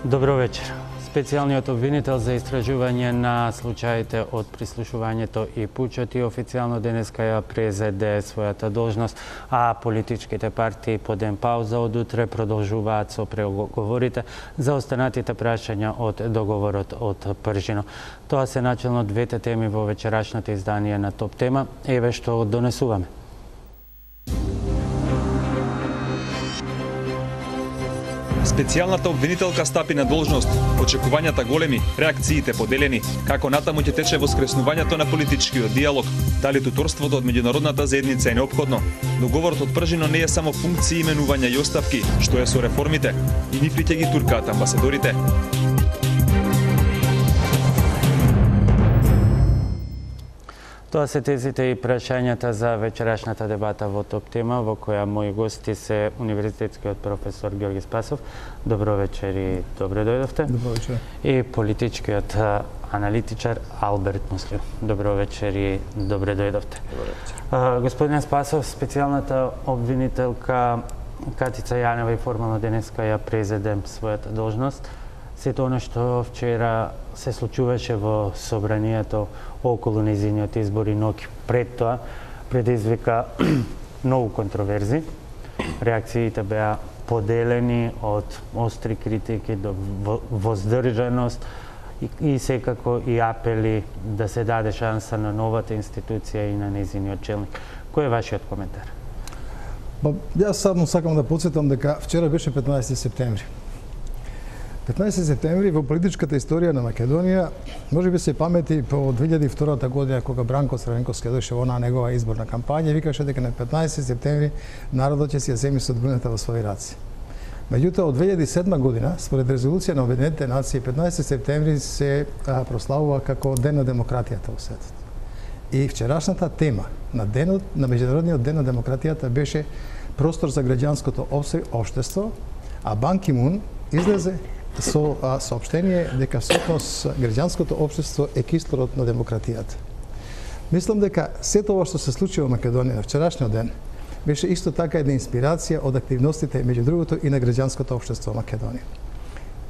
Добро вечер. Специјалниот обвинител за истражување на случаите од прислушувањето и пучот и официјално денеска ја презеде својата должност, а политичките партии по ден пауза од утре продолжуваат со преговорите за останатите прашања од договорот од Пржино. Тоа се начелно двете теми во вечерашното издание на Топ тема. Еве што донесуваме. Специјалната обвинителка стапи на должност, очекувањата големи, реакциите поделени, како натаму ќе тече воскреснувањето на политичкиот диалог, дали туторството од меѓународната заедница е неопходно. Договорот од Пржино не е само функции, именувања и оставки, што е со реформите, и нив ли ќе ги туркаат амбасадорите. Тоа се тезите и прашањата за вечерашната дебата во Топ тема, во која мои гости се универзитетскиот професор Ѓорги Спасов. Добро вечер и добре дојдовте. Добро вечер. И политичкиот аналитичар Алберт Муслио. Добро вечер и добре дојдовте. Добро вечер. Господин Спасов, специјалната обвинителка Катица Јанева и формално денеска ја презеде својата должност. Сето оно што вчера се случуваше во собранието околу нејзиниот избор и ноќ пред тоа предизвика многу контроверзи. Реакциите беа поделени од остри критики до воздржаност и секако и апели да се даде шанса на новата институција и на нејзиниот челник. Кој е вашиот коментар? Јас само сакам да потсетам дека вчера беше 15 септември. 15 септември во политичката историја на Македонија, може би се памети по 2002 година кога Бранко Црвенковски дојше во онаа негова изборна кампања, викаше дека на 15 септември народот ќе си ја земи судбината во своји раце. Меѓутоа, од 2007 година, според резолуција на Обединетите нации, 15 септември се прославува како Ден на демократијата во светот. И вчерашната тема на денот, на меѓународниот ден на демократијата беше простор за граѓанското општество, а Бан Ки Мун излезе со соопштение дека всушност граѓанското општество е кислород на демократијата. Мислам дека сето ова што се случи во Македонија на вчерашниот ден беше исто така една инспирација од активностите меѓу другото и на граѓанското општество во Македонија.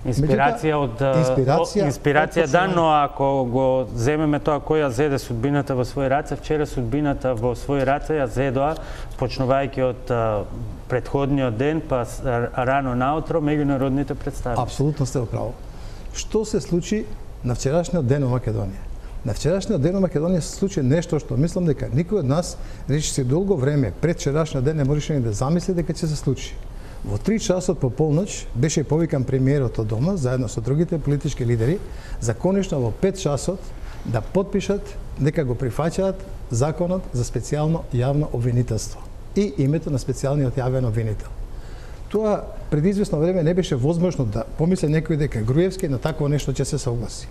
Инспирација да, но ако го земеме тоа кој ја зеде судбината во своји раце, вчера судбината во своји раце ја зедоа, почнувајќи од предходниот ден, па рано наутро, меѓународните представници. Апсолутно сте управо. Што се случи на вчерашниот ден во Македонија? На вчерашниот ден во Македонија се случи нешто што мислам дека никој од нас речиси долго време пред вчерашниот ден не можеше ни да замисли дека ќе се случи. Во 3 часот по полноќ беше повикан премиерот од дома заедно со другите политички лидери за конечно во 5 часот да потпишат дека го прифаќаат законот за специјално јавно обвинителство и името на специјалниот јавен обвинител. Тоа пред известно време не беше возможно да помисли некој дека Груевски на такво нешто ќе се согласи.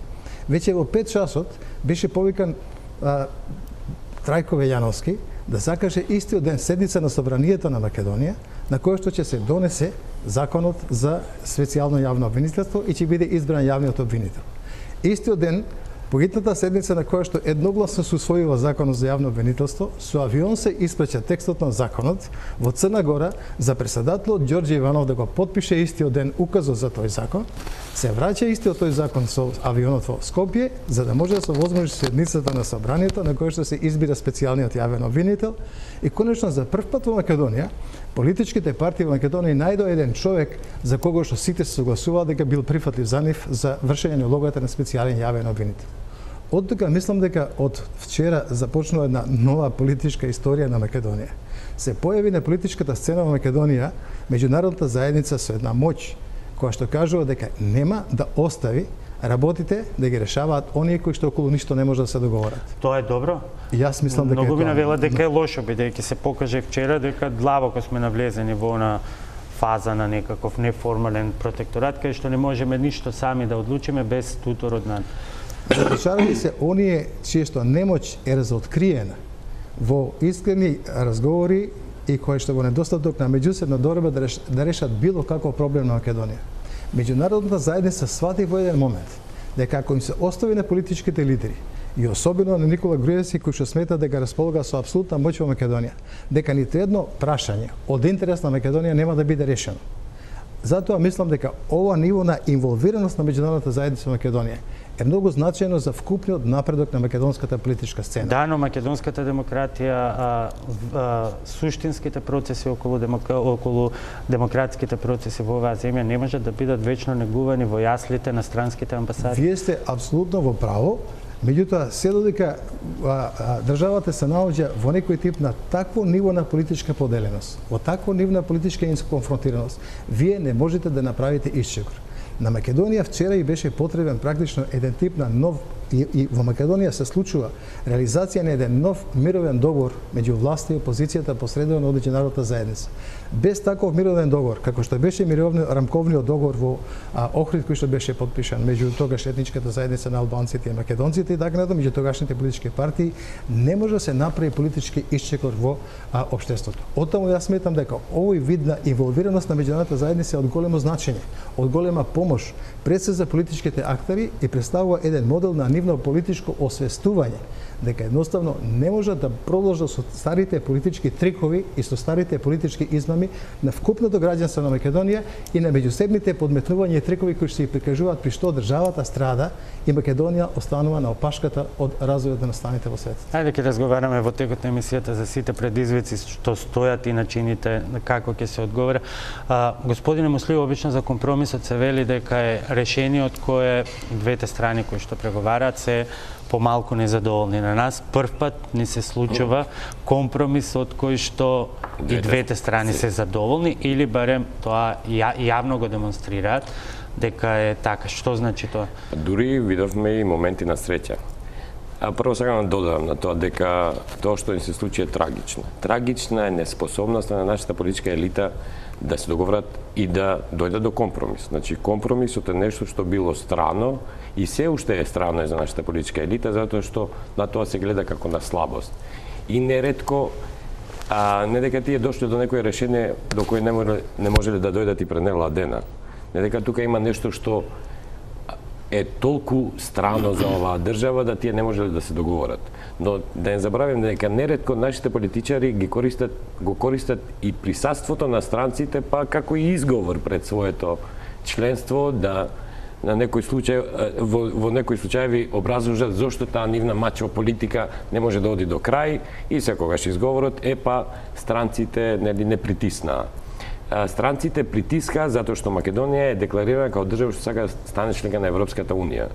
Веќе во 5 часот беше повикан Трајко Велјановски да закаже истиот ден седница на Собранието на Македонија, на кој што ќе се донесе законот за специјално јавно обвинителство и ќе биде избран јавниот обвинител. Истиот ден, по гитната седница на која што едногласно се усвоила законот за јавно обвинителство, со авион се испраќа текстот на законот во Црна Гора за председателот Ѓорѓе Иванов да го потпише истиот ден указот за тој закон, се враќа истиот тој закон со авионот во Скопје, за да може да се возможи седницата на собранието на која што се избира специјалниот јавен обвинител и конечно за прв пат во Македонија политичките партии во Македонија најдоа еден човек за кого што сите се согласуваат дека бил прифатлив за нив за вршење на улогата на специјален јавен обвинител. Од тука мислам дека од вчера започнува една нова политичка историја на Македонија. Се појави на политичката сцена во Македонија меѓународната заедница со една моќ која што кажува дека нема да остави работите да ги решаваат оние кои што околу ништо не може да се договорат. Тоа е добро. Јас мислам дека многу би навела дека е лошо, бидејќи се покаже вчера дека длабоко сме навлезени во она фаза на некаков неформален протекторат кај што не можеме ништо сами да одлучиме без туторот на Затичарали се оние чие што немоќ е разоткриена во искрени разговори и кои што во недостаток на меѓусебна доверба да решат било каков проблем на Македонија. Меѓународната заедница свати во еден момент дека ако им се остави на политичките лидери и особено на Никола Груевски кој што смета дека располага со апсолутна моќ во Македонија, дека ниту едно прашање од интерес на Македонија нема да биде решено. Затоа мислам дека ова ниво на инволвираност на меѓународната заедница во Македонија е многу значајно за вкупниот напредок на македонската политичка сцена. Да, но македонската демократија, суштинските процеси околу демократските процеси во оваа земја не можат да бидат вечно негувани во јаслите на странските амбасади. Вие сте апсолутно во право, меѓутоа се додека државата се наоѓа во некој тип на такво ниво на политичка поделеност, во такво ниво на политичка конфронтираност, вие не можете да направите исчекор. На Македонија вчера и беше потребен практично еден тип на нов и во Македонија се случува реализација на еден нов мировен договор меѓу власта и опозицијата посредуван од меѓународната заедница. Без таков мировен договор, како што беше рамковниот договор во Охрид кој што беше подпишан меѓу тогаш етничката заедница на албанците и македонците и така натаму, меѓу тогашните политички партии, не може да се направи политички исчекор во општеството. Оттаму јас сметам дека овој вид на инволвираност на меѓународната заедница е од големо значење, од голема помош пред се за политичките актери и представува еден модел на нивно политичко освестување дека едноставно не може да продолжат со старите политички трикови и со старите политички измами на вкупното граѓанство на Македонија и на меѓусебните подметнувања и трикови кои се прикажуваат при што државата страда и Македонија останува на опашката од развојот на станите во светот. Ајде ќе разговараме во текот на емисијата за сите предизвици што стојат и начините како ќе се одговара. Господине Муслиев, обично за компромисот се вели дека е решениот кое двете страни кои што преговараат се помалку незадоволни. На нас прв пат ни се случува компромис од кој што и двете страни се задоволни или барем тоа јавно го демонстрираат дека е така. Што значи тоа? Дури видовме и моменти на среќа. Прво сакам да додадам на тоа дека тоа што ни се случи е трагично. Трагична е неспособноста на нашата политичка елита да се договорат и да дојдат до компромис. Значи, компромисот е нешто што било страно и се уште е страно за нашата политичка елита, затоа што на тоа се гледа како на слабост. И неретко, не дека тие дошли до некој решение до кој не можеле да дојдат и пред неладена. Не дека тука има нешто што е толку страно за оваа држава да тие не можеле да се договорат. Но да не забравим дека неретко нашите политичари го користат и присуството на странците па како и изговор пред своето членство да на некој случај во некои случаеви образложат зошто таа нивна мачо политика не може да оди до крај и секогаш изговорот е па странците не притиснаа. Странците притискаа затоа што Македонија е декларирана како држава што сака да стане член на Европската унија.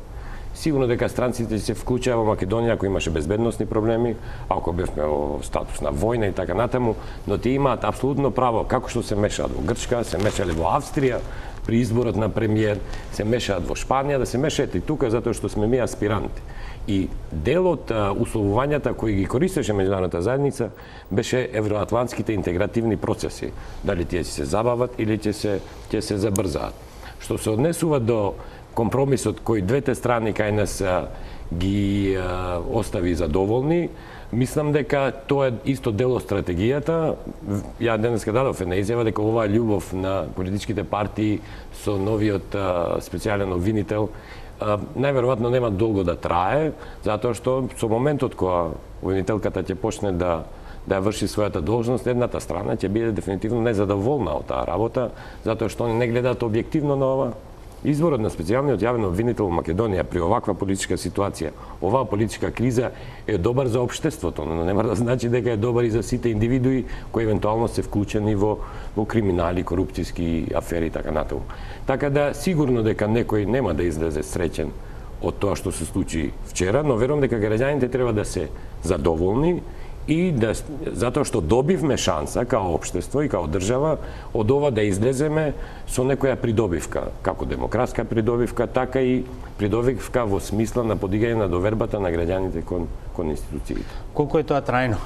Сигурно дека странците се вклучаа во Македонија ако имаше безбедносни проблеми, ако бевме во статус на војна и така натаму, но тие имаат апсолутно право како што се мешаат во Грчка, се мешале во Австрија при изборот на премиер, се мешаат во Шпанија, да се мешаат и тука затоа што сме ми аспиранти. И дел од условувањата кои ги користеше меѓународната заедница беше евроатлантските интегративни процеси. Дали тие се забават или ќе се забрзаат. Што се однесува до компромисот кој двете страни кај нас ги остави задоволни, мислам дека тоа е исто дел од стратегијата. Ја денеска дадов една изјава дека оваа љубов на политичките партии со новиот специјален обвинител најверојатно нема долго да трае, затоа што со моментот кога обвинителката ќе почне да ја врши својата должност, едната страна ќе биде дефинитивно незадоволна од таа работа, затоа што они не гледаат објективно на ова. Изборот на специјалниот јавен обвинител во Македонија при оваква политичка ситуација, оваа политичка криза е добар за општеството, но нема да значи дека е добар и за сите индивидуи кои евентуално се вклучени во криминали, корупцијски афери и така натаму. Така да сигурно дека некој нема да излезе среќен од тоа што се случи вчера, но верувам дека граѓаните треба да се задоволни и затоа што добивме шанса као општество и као држава од ова да излеземе со некоја придобивка, како демократска придобивка, така и придобивка во смисла на подигање на довербата на граѓаните кон институциите. Колку е тоа трајно?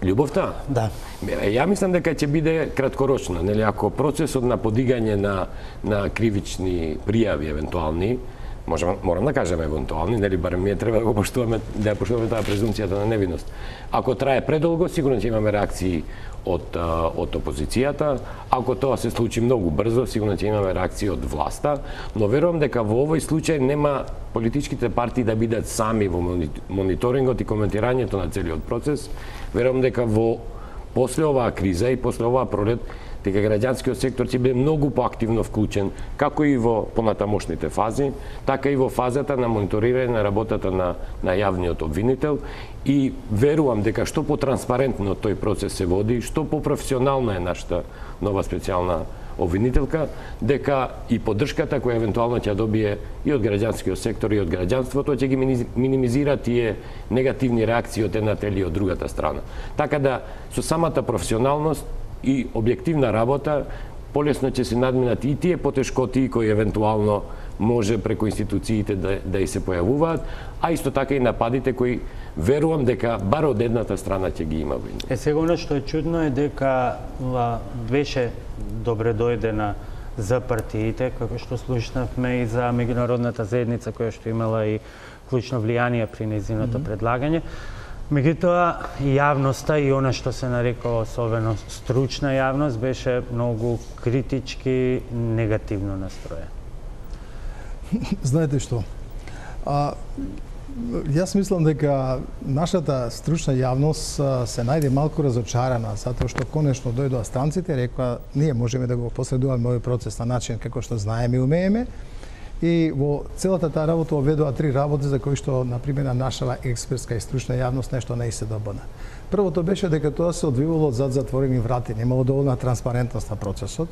Љубовта? Да. Ја мислам дека ќе биде краткорочна, нели, ако процесот на подигање на кривични пријави евентуални Морам да кажам евентуални, нели барем ние треба да го поштуваме, да поштуваме таа презумцијата на невиност. Ако трае предолго, сигурно ќе имаме реакции од опозицијата. Ако тоа се случи многу брзо, сигурно ќе имаме реакции од власта, но верувам дека во овој случај нема политичките партии да бидат сами во мониторингот и коментирањето на целиот процес. Верувам дека после оваа криза и после оваа пролет, дека граѓанскиот сектор ќе биде многу поактивно вклучен, како и во понатамошните фази, така и во фазата на мониторирање на работата на јавниот обвинител, и верувам дека што потранспарентно тој процес се води, што попрофесионална е нашата нова специјална обвинителка, дека и поддршката која евентуално ќе добие и од граѓанскиот сектор и од граѓанството ќе ги минимизира тие негативни реакции од едната или од другата страна. Така да со самата професионалност и објективна работа полесно ќе се надминат и тие потешкоти кои евентуално може преку институциите да и се појавуваат, а исто така и нападите кои верувам дека бар од едната страна ќе ги има. Сега оно што е чудно е дека беше добре дојдена за партиите, како што слушнавме и за меѓународната заедница која што имала и клучно влијание при нејзиното предлагање. Меѓутоа, јавноста и она што се нарекува особено стручна јавност беше многу критички, негативно настроена. Знаете што? Јас мислам дека нашата стручна јавност се најде малку разочарана, затоа што конечно дојдоа странците и рекоа ние можеме да го последуваме овој процес на начин како што знаеме и умееме. И во целата таа работа оведоа 3 работи за кои што, например, нашава експертска и стручна јавност нешто не се добана. Првото беше дека тоа се одвивало зад затворени врати, немало доволна транспарентност на процесот.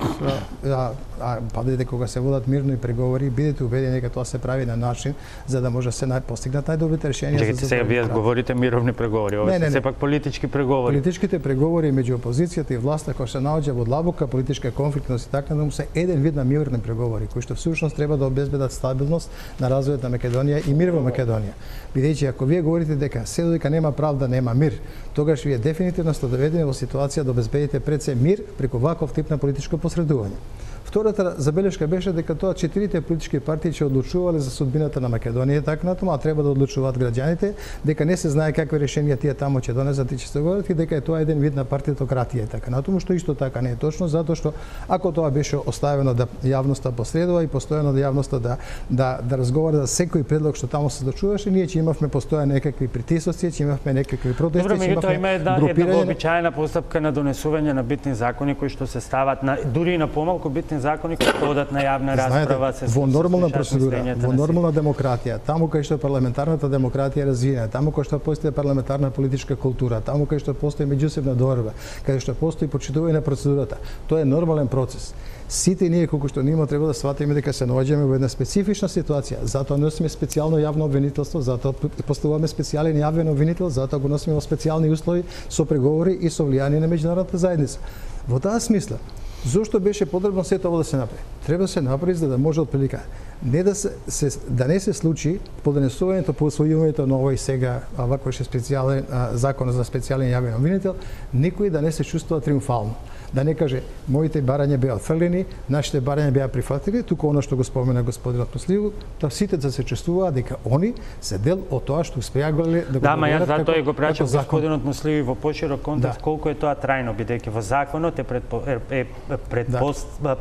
Падете кога се водат мирни преговори, бидете убедени дека тоа се прави на начин за да може се постигнат најдобрите решенија. Чекайте, сега вие говорите мировни преговори, ова се сепак политички преговори. Политичките преговори меѓу опозицијата и власта кои се наоѓа во длабока политичка конфликтност и така натаму се еден вид на мирни преговори кои што всушност треба да обезбедат стабилност на развојот на Македонија и мир во Македонија. Бидејќи ако вие говорите дека се додека нема правда, нема мир, тогаш вие дефинитивно сте доведени во ситуација да обезбедите пред се мир преку ваков тип на политичко посредување. Втората забелешка беше дека тоа 4 политички партии ќе одлучувале за судбината на Македонија, така натаму, а треба да одлучуваат граѓаните, дека не се знае какви решенија тие таму ќе донесат и ќе се говорат и дека е тоа еден вид на партитократија, така натаму, што исто така не е точно, затоа што ако тоа беше оставено да јавноста посредува и постојано да јавноста да разговара за секој предлог што таму се случуваше, ние ќе имавме постојано некакви притисоци, ќе имавме некакви протести, ќе имавме има една вообичаена постапка на донесување на битни закони кои што се стават дури и на помалку битни закони кои одат на јавна расправа, се во нормална процедура, во нормална демократија, таму кај што парламентарната демократија е развиена, таму кај што постои парламентарна политичка култура, таму кај што постои меѓусебна доверба, кај што постои почитување на процедурата, тоа е нормален процес. Сите ние колку што нимо треба да сватиме дека се наоѓаме во една специфична ситуација, затоа носиме специјално јавно обвинителство, затоа поставуваме специјален јавен обвинител, затоа го носиме во специјални услови со преговори и со влијание на меѓународната заедница. Во таа смисла, зошто беше потребно сето ово да се направи? Треба да се направи за да може отприлика да не се случи подонесувањето по усвојувањето на овој сега ваков специјален закон за специјален јавен обвинител, никој да не се чувствува триумфално. Да не каже, моите барања беа отфрлени, нашите барања беа прифатени, туку оно што го спомена господинот Муслимов, тоа сите да се чувствуваат дека они се дел од тоа што успеа да го договорат. Да, ма јас затоа и го прачав господинот Муслимов во поширок контекст, колку е тоа трајно, бидејќи во законот е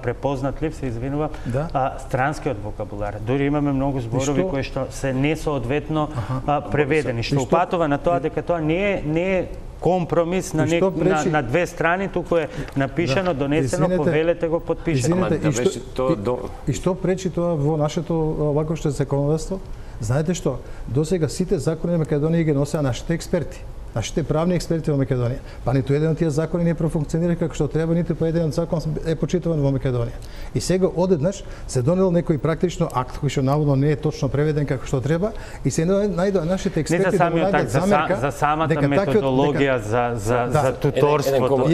препознат лив, се извинувам, странскиот вокабулар. Дури имаме многу зборови кои што се несоодветно преведени, што упатува на тоа дека тоа не е компромис на две страни, туку е напишано, донесено, повелете го, подпишено. И што пречи тоа во нашето вакво законодавство? Знаете што, досега сите закони на Македонија ги носеа нашите експерти. Нашите правни експерти во Македонија. Па ниту еден од тие закони не профункционира како што треба, ниту по еден од закон е почитуван во Македонија. И сега одеднаш се донел некој практично акт кој што наводно не е точно преведен како што треба и се најдоа нашите експерти да најдат замерка за самата методологија за туторството.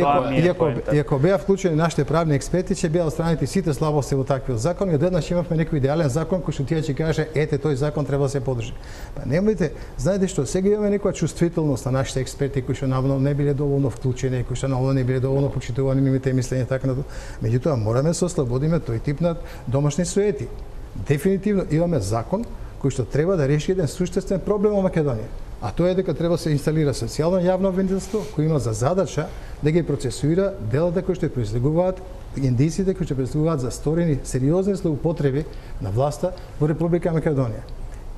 И ако беа вклучени нашите правни експерти, ќе беа отстранети сите слабости во таквиот закон и одеднаш имавме некој идеален закон кој што тие ќе каже ете тој закон треба да се подржи. Па немојте, знаете што, сега имаме некоја чувствителност на нашите експерти кои што наводно не биле доволно вклучени, кои што наводно не биле доволно почитувани нивните мислења така натаму. Меѓутоа мораме да се ослободиме тој тип на домашни суети. Дефинитивно имаме закон кој што треба да реши еден суштествен проблем во Македонија. А тоа е дека треба да се инсталира социјално јавно обвинителство кој има за задача да ги процесуира делата кои што произлегуваат, индиците кои што произлегуваат за сторени сериозни злоупотреби на власта во Република Македонија.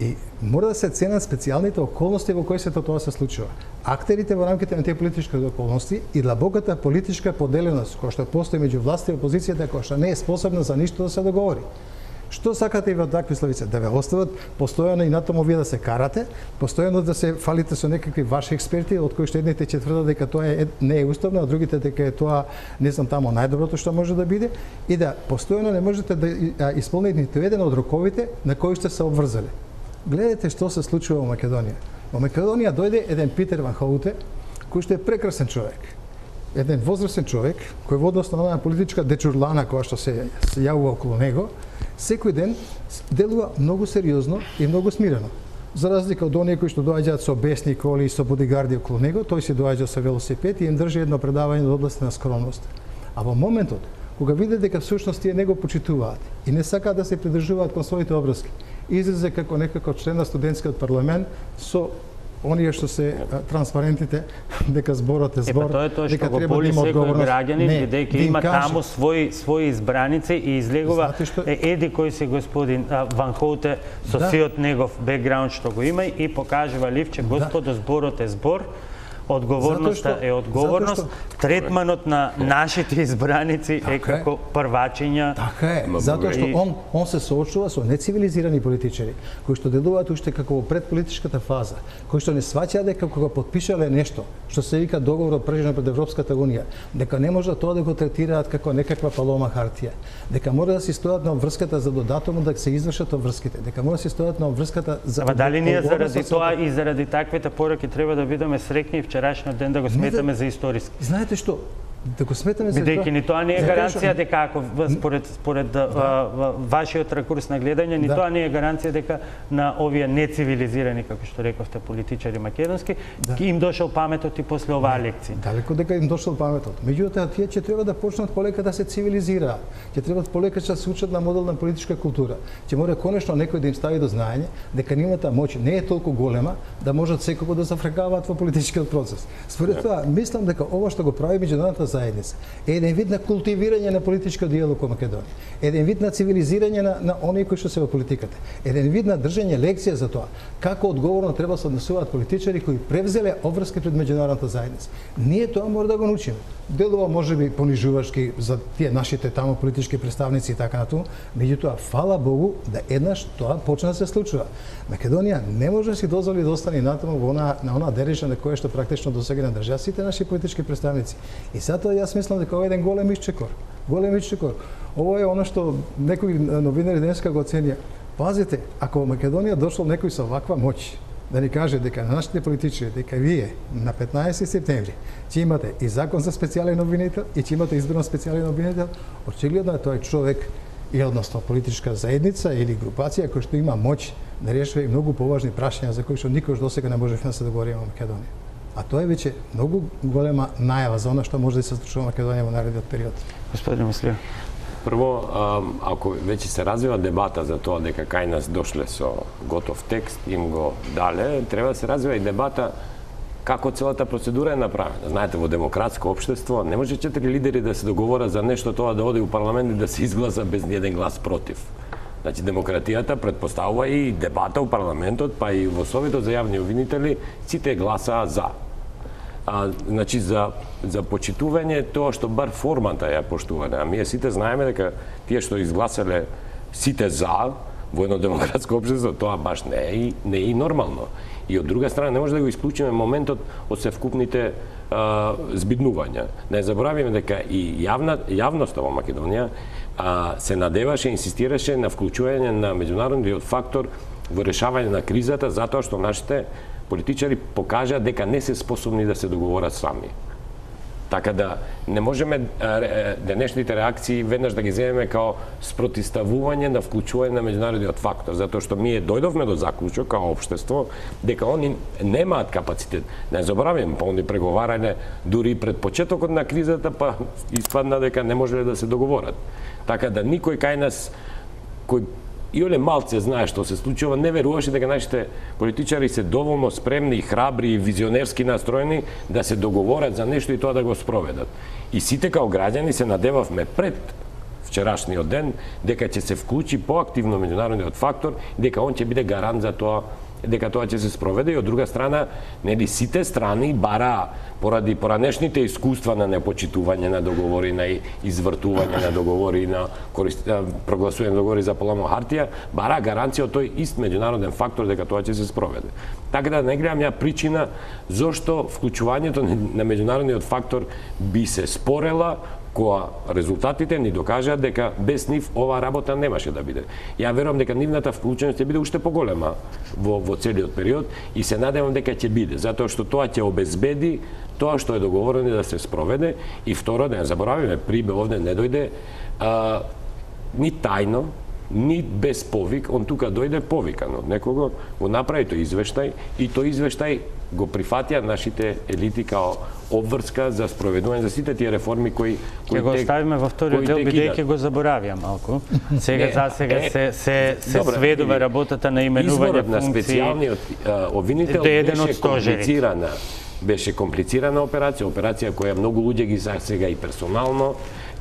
И мора да се ценат специјалните околности во кои се тоа се случува. Актерите во рамките на тие политички околности и длабоката политичка поделеност која што постои меѓу власта и опозицијата која што не е способна за ништо да се договори. Што сакате и во такви славици? Да ве остават постојано и натаму вие да се карате, постојано да се фалите со некакви ваши експерти, од кои што едните ќе тврдат дека тоа не е уставно, а другите дека е тоа, не знам, тамо најдоброто што може да биде, и да постојано не можете да исполните ниту еден од роковите на кои сте се обврзали. Гледате што се случува во Македонија. Во Македонија дојде еден Питер Ван Хоуте, кој што е прекрасен човек. Еден возрастен човек, кој во однос на онаа политичка дечурлана која што се јавува околу него, секој ден делува многу сериозно и многу смирено. За разлика од оние кои што доаѓаат со бесни коли и со бодигарди околу него, тој се доаѓа со велосипед и им држи едно предавање од област на скромност. А во моментот кога види дека всушност тие него почитуваат и не сакаат да се придржуваат кон своите обврски, излезе како некако член на студентскиот парламент со оние што се транспарентите дека зборот е збор, тоа е тоа што го боли секој граѓанин, бидејќи има таму своји избраници и излегува еди кој си господин Ван Хоуте со сиот негов бекграунд што го има и покажува ливче, господо, зборот е збор, одговорноста е одговорност, третманот на нашите избраници е како првачиња. Така е, затоа што он се соочува со нецивилизирани политичари, кои што делуваат уште како во предполитичката фаза, кои што не сваќаат дека кога подпишале нешто, што се вика договор прежено пред Европската унија, дека не може тоа да го третираат како некаква палома хартија, дека мора да се стојат на обврската за додатомо да се извршат обврските, дека мора да се стојат на обврската за. Дали ние заради тоа и заради таквите пораки треба да бидеме срекни вчерашниот ден да го сметаме за историски? Знаете што? Да го сметаме за бидејќи ни тоа не е гаранција дека ако според вашиот ракурс на гледање, ни тоа не е гаранција дека на овие нецивилизирани, како што рековте, политичари македонски, им дошол паметот и после оваа лекција. Далеко дека им дошол паметот. Меѓутоа тие ќе треба да почнат полека да се цивилизираат. Ќе треба полека да се учат на моделна политичка култура. Ќе мора конечно некој да им стави до знаење дека нивната моќ не е толку голема да можат секако да зафркаваат во политичкиот процес. Според тоа, мислам дека ова што го прави меѓународната заедница е еден вид на култивирање на политичкиот диалог во Македонија, еден вид на цивилизирање на оние кои што се во политиката, еден вид на држање лекција за тоа како одговорно треба се однесуваат политичари кои превзеле обврски пред меѓународната заедница. Ние тоа мора да го научиме. Делува можеби понижувачки за тие нашите таму политички представници и така натаму, меѓутоа фала Богу да еднаш тоа почна да се случува. Македонија не може да си дозволи да остане натаму во на онаа дережа на која што практично досега надржаа сите наши политички представници. И затоа јас мислам дека ова е еден голем исчекор. Голем исчекор. Ова е она што некои новинари денеска го оценија. Пазите, ако во Македонија дошол некој со ваква моќ да ни каже дека нашите политичари, дека вие на 15 септември ќе имате и закон за специјален обвинител и ќе имате избран специјален обвинител, очигледно е тој човек и односно политичка заедница или групација која што има моќ да решава и многу поважни прашања за кои што никош досега не можевме да се договориме во Македонија. А тоа е веќе многу голема најава за она што може да се случува во Македонија во наредниот период. Господин Мислиев. Прво, ако веќе се развива дебата за тоа дека кај нас дошле со готов текст, им го дале, треба да се развива и дебата како целата процедура е направена. Знаете, во демократско општество не може 4 лидери да се договорат за нешто тоа да оди у парламент и да се изгласа без ни еден глас против. Значи, демократијата предпоставува и дебата у парламентот, па и во Советот за јавни обвинители, сите гласаа за. Значи, за почитување тоа што бар формата ја поштуване. А ние сите знаеме дека тие што изгласале сите за во едно демократско општество, тоа баш не е и нормално. И од друга страна не може да го исклучиме моментот од севкупните збиднувања. Не заборавиме дека и јавноста во Македонија се надеваше и инсистираше на вклучување на меѓународниот фактор во решавање на кризата, затоа што нашите политичари покажаа дека не се способни да се договорат сами. Така да не можеме денешните реакции веднаш да ги земеме као спротивставување на вклучување на меѓународниот фактор, затоа што ние дојдовме до заклучок као општество дека они немаат капацитет. Не забораваме, па они преговарање дури пред почетокот на кризата, па испадна дека не можеле да се договорат. Така да никој кај нас кој Иоле малце знае што се случува, не веруваше дека нашите политичари се доволно спремни, храбри и визионерски настроени да се договорат за нешто и тоа да го спроведат. И сите као граѓани се надевавме пред вчерашниот ден дека ќе се вклучи поактивно меѓународниот фактор, дека он ќе биде гарант за тоа дека тоа ќе се спроведе, и од друга страна, нели сите страни бара поради поранешните искуства на непочитување на договори, на извртување на договори, на прогласување на договори за полама хартија, бара гаранција од тој ист меѓународен фактор дека тоа ќе се спроведе. Така да не гледам ја причина зошто вклучувањето на меѓународниот фактор би се спорела, која резултатите ни докажаат дека без нив оваа работа немаше да биде. Ја верувам дека нивната вклученост ќе биде уште поголема во целиот период и се надевам дека ќе биде, затоа што тоа ќе обезбеди тоа што е договорено да се спроведе. И второ, да не заборавиме, Прибе овде не дојде ни тајно, ни без повик, он тука дојде повикано. Некого го направи тој извештај и тој извештај го прифатија нашите елити као обврска за спроведување за сите тие реформи кои ќе го оставиме во вториот дел, бидејќи го заборавија малку. Сега засега се сведува работата на именување функции. Изборот на специјалниот обвинител беше комплицирана операција која многу луѓе ги засега и персонално,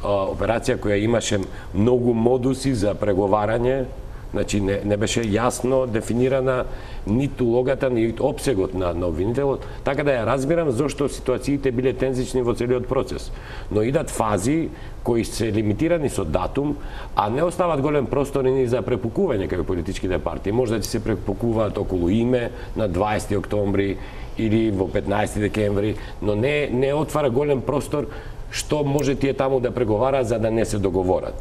операција која имаше многу модуси за преговарање. Значи не беше јасно дефинирана ниту улогата, ни опсегот на обвинителот, така да ја разбирам зошто ситуациите биле тензични во целиот процес. Но идат фази кои се лимитирани со датум, а не остават голем простор ни за препукување кај политичките партии. Може да се препукуваат околу име на 20 октомври или во 15 декември, но не отвара голем простор што може тие таму да преговара за да не се договорат.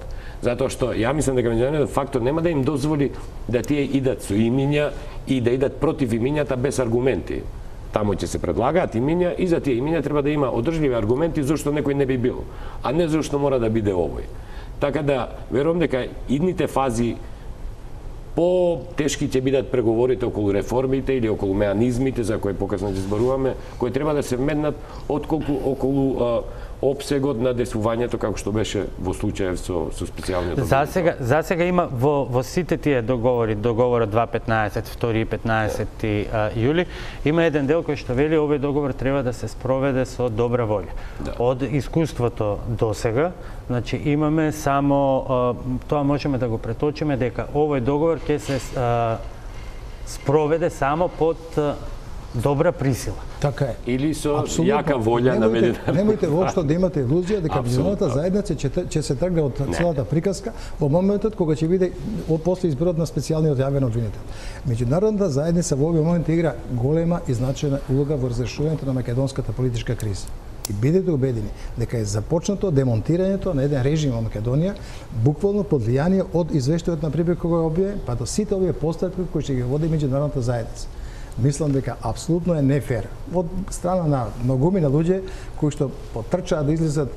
Затоа што ја мислам дека меѓународниот фактор нема да им дозволи да тие идат со имиња и да идат против имињата без аргументи. Таму ќе се предлагаат имиња и за тие имиња треба да има одржливи аргументи зошто некој не би бил, а не зошто мора да биде овој. Така да верувам дека идните фази по-тешки ќе бидат преговорите околу реформите или околу меанизмите за кои покасно ќе зборуваме, кои треба да се вметнат отколку околу опсегот на десувањето како што беше во случајов со специјалниот обвинител. Засега има во сите тие договорот 2.15, 2 и 15 јули, има еден дел кој што вели овој договор треба да се спроведе со добра волја. Да. Од искуството досега, значи имаме само тоа можеме да го преточиме дека овој договор ќе се спроведе само под добра присила. Така е. Или со јака волја на меѓународната. Немојте воопшто да имате илузија дека меѓународната заедница ќе се тргне од целата приказка во моментот кога ќе биде после изборот на специјалниот јавен обвинител. Меѓународната заедница во овој момент игра голема и значајна улога во разрешувањето на македонската политичка криза. И бидете убедени дека е започнато демонтирањето на еден режим во Македонија, буквално под влијание од извештајот на Прибе кога го објаве, па до сите овие постапки кои ќе ги води меѓународната заедница. Мислам дека апсолутно е нефер од страна на многумина луѓе кои што потрчаат да излезат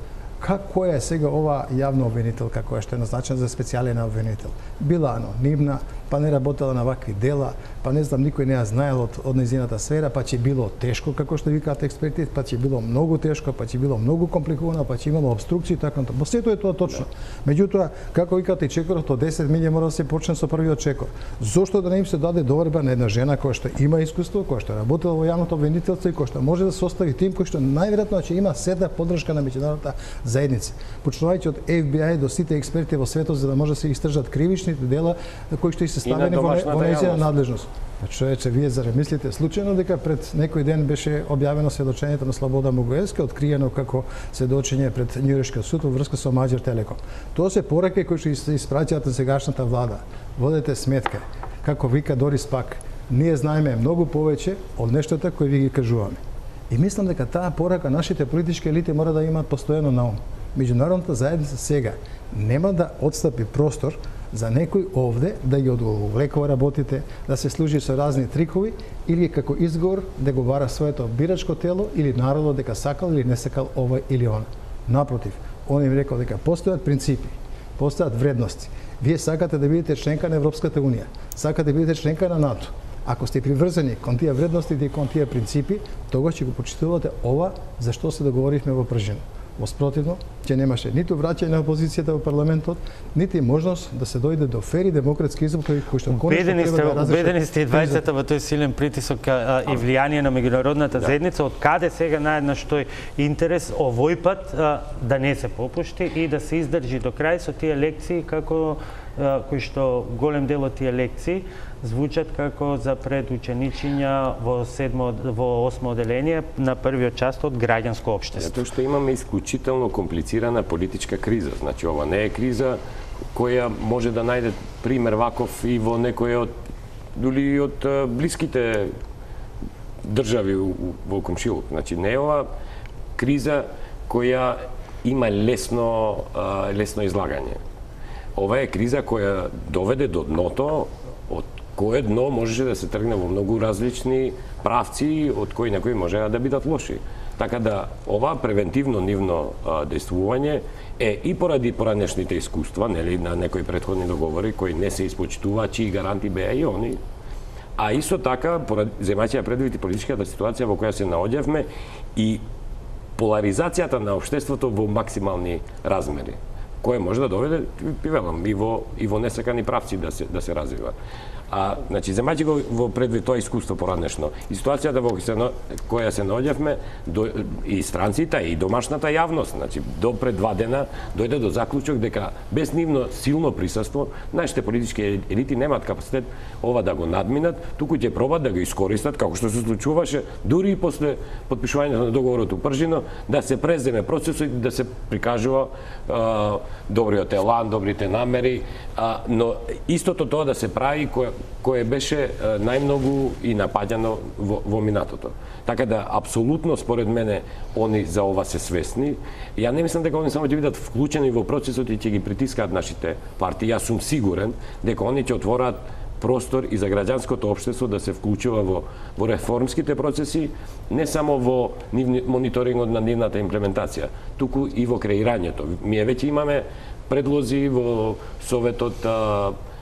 која е сега ова јавна обвинителка која што е назначена за специјален обвинител. Била анонимна, па не работела на вакви дела, па не знам, никој не ја знаел од нејзината сфера, па ќе било тешко, како што викаат експерти, па ќе било многу тешко, па ќе било многу компликувано, па ќе имало обструкции и така натаму. Сето е тоа точно. Меѓутоа, како викаат и чекорот од 10 милји мора да се почне со првиот чекор. Зошто да не им се даде доверба на една жена која што има искуство, која што работела во јавното обвинителство и која што може да состави тим кој што најверојатно ќе има седна поддршка на меѓународната заедница. Почнувајќи од FBI до сите експерти во светот за да може да се истражат кривичните дела кои што се ставени во нејзина надлежност. Човече, вие зарем мислите случајно дека пред некој ден беше објавено сведочењето на Слобода Могоевски, откриено како сведочење пред Њујоршкиот суд во врска со Маđар Телеком. Тоа се пораки кои што се испраќаат на сегашната влада. Водете сметка, како вика Дорис Пак, ние знаеме многу повеќе од нештата кои ви ги кажуваме. И мислам дека таа порака нашите политички елити мора да имаат постојано на ум. Меѓународната заедница сега нема да отстапи простор за некој овде да ги одговлекува работите, да се служи со разни трикови или како изговор да го бара своето бирачко тело или народот дека сакал или не сакал ова или она. Напротив, он им рекол дека постојат принципи, постојат вредности. Вие сакате да бидете членка на Европската унија, сакате да бидете членка на НАТО. Ако сте приврзани кон тие вредности и кон тие принципи, тогаш ќе го почитувате ова за што се договоривме во Пржина. Во спротивно, ќе немаше ниту враќање на опозицијата во парламентот, нити можност да се дојде до фери демократски избори кои што конечно треба да разрешат. Убедени сте и двајцата во тој силен притисок и влијание на меѓународната заедница, од каде сега наеднаш тој интерес овој пат да не се попушти и да се издржи до крај со тие лекции како кои што голем дел од тие лекции звучат како за предученичиња во 8 оделение на првиот част од граѓанско општество. Затоа што имаме исклучително комплицирана политичка криза. Значи, ова не е криза која може да најде пример ваков и во некој од дури од блиските држави во комшилук. Значи, не е ова криза која има лесно излагање. Ова е криза која доведе до дното, од кое дно можеше да се тргне во многу различни правци, од кои некои можеа да бидат лоши. Така да, ова превентивно нивно действување е и поради поранешните искуства, нели, на некои претходни договори кои не се испочитуваат, чии гаранти беа и они, а исто така, земајќи предвид и политичката ситуација во која се наоѓавме и поларизацијата на општеството во максимални размери, кое може да доведе, пивелам, и во несакани правци да се развива. Значи, земајќи го во предвид тоа искуство поранешно, и ситуацијата во која се наоѓавме, и странците, и домашната јавност, значи, до пред 2 дена дојде до заклучок дека без нивно силно присуство, нашите политички елити немаат капацитет ова да го надминат, туку ќе пробат да го искористат, како што се случуваше дури и после потпишувањето на договорот у Пржино, да се преземе процесот и да се прикажува добриот елан, добрите намери, но истото тоа да се прави кое беше најмногу и напаѓано во минатото. Така да, апсолутно, според мене, они за ова се свесни. Ја не мислам дека они само ќе бидат вклучени во процесот и ќе ги притискаат нашите партии. Јас сум сигурен дека они ќе отвораат простор и за граѓанското општество да се вклучува во реформските процеси, не само во мониторингот на нивната имплементација, туку и во креирањето. Ние веќе имаме предлози во Советот,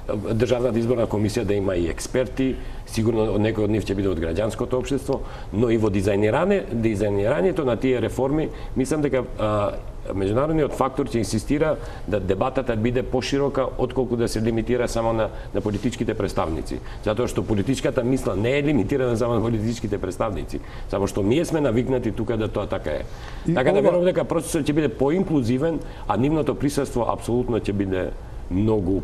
Државната изборна комисија да има и експерти, сигурно некој од нив ќе биде од граѓанското општество, но и во дизајнирањето на тие реформи, мислам дека меѓународниот фактор ќе инсистира да дебатата биде поширока отколку да се лимитира само на политичките представници. Затоа што политичката мисла не е лимитирана само на политичките представници, само што ние сме навикнати тука да тоа така е. Така да верувам дека процесот ќе биде поинклузивен, а нивното присуство апсолутно ќе биде многу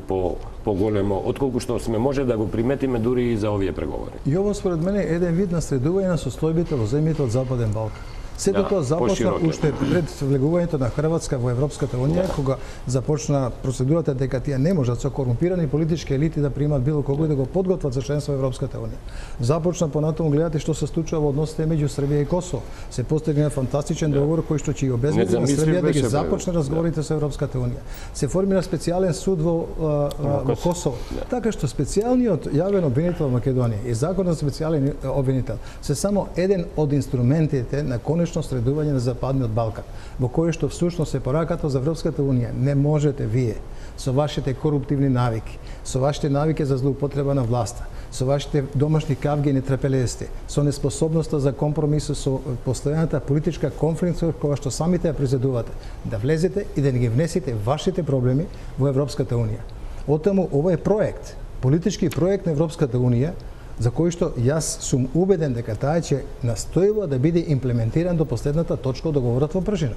поголемо, отколку што сме може да го приметиме дури и за овие преговори. И ово според мене е еден вид на средување на состојбите во земјите од Западен Балкан. Сето тоа започна уште пред влегувањето на Хрватска во Европската унија, кога започна процедурата дека тие не можат со корумпирани политички елити да примат било кого и да го подготват за членство во Европската унија. Започна понатаму гледате што се случува во односите меѓу Србија и Косово. Се постигна фантастичен договор кој што ќе ја обезбеди на Србија да ги започне разговорите со Европската унија. Се формира специјален суд во Косово. Така што специјалниот јавен обвинител во Македонија и законот за специјален обвинител се само еден од инструментите на средување на Западниот Балкан, во кој што всушност е пораката за Европската унија. Не можете вие со вашите коруптивни навики, со вашите навики за злоупотреба на власта, со вашите домашни кавги и нетрпелести, со неспособноста за компромис, со постојаната политичка конфликт која што самите ја презедувате, да влезете и да не ги внесете вашите проблеми во Европската унија. Оттаму ова е проект, политички проект на Европската унија, за кој што јас сум убеден дека таа ќе настојува да биде имплементиран до последната точка од договорот во Пржина.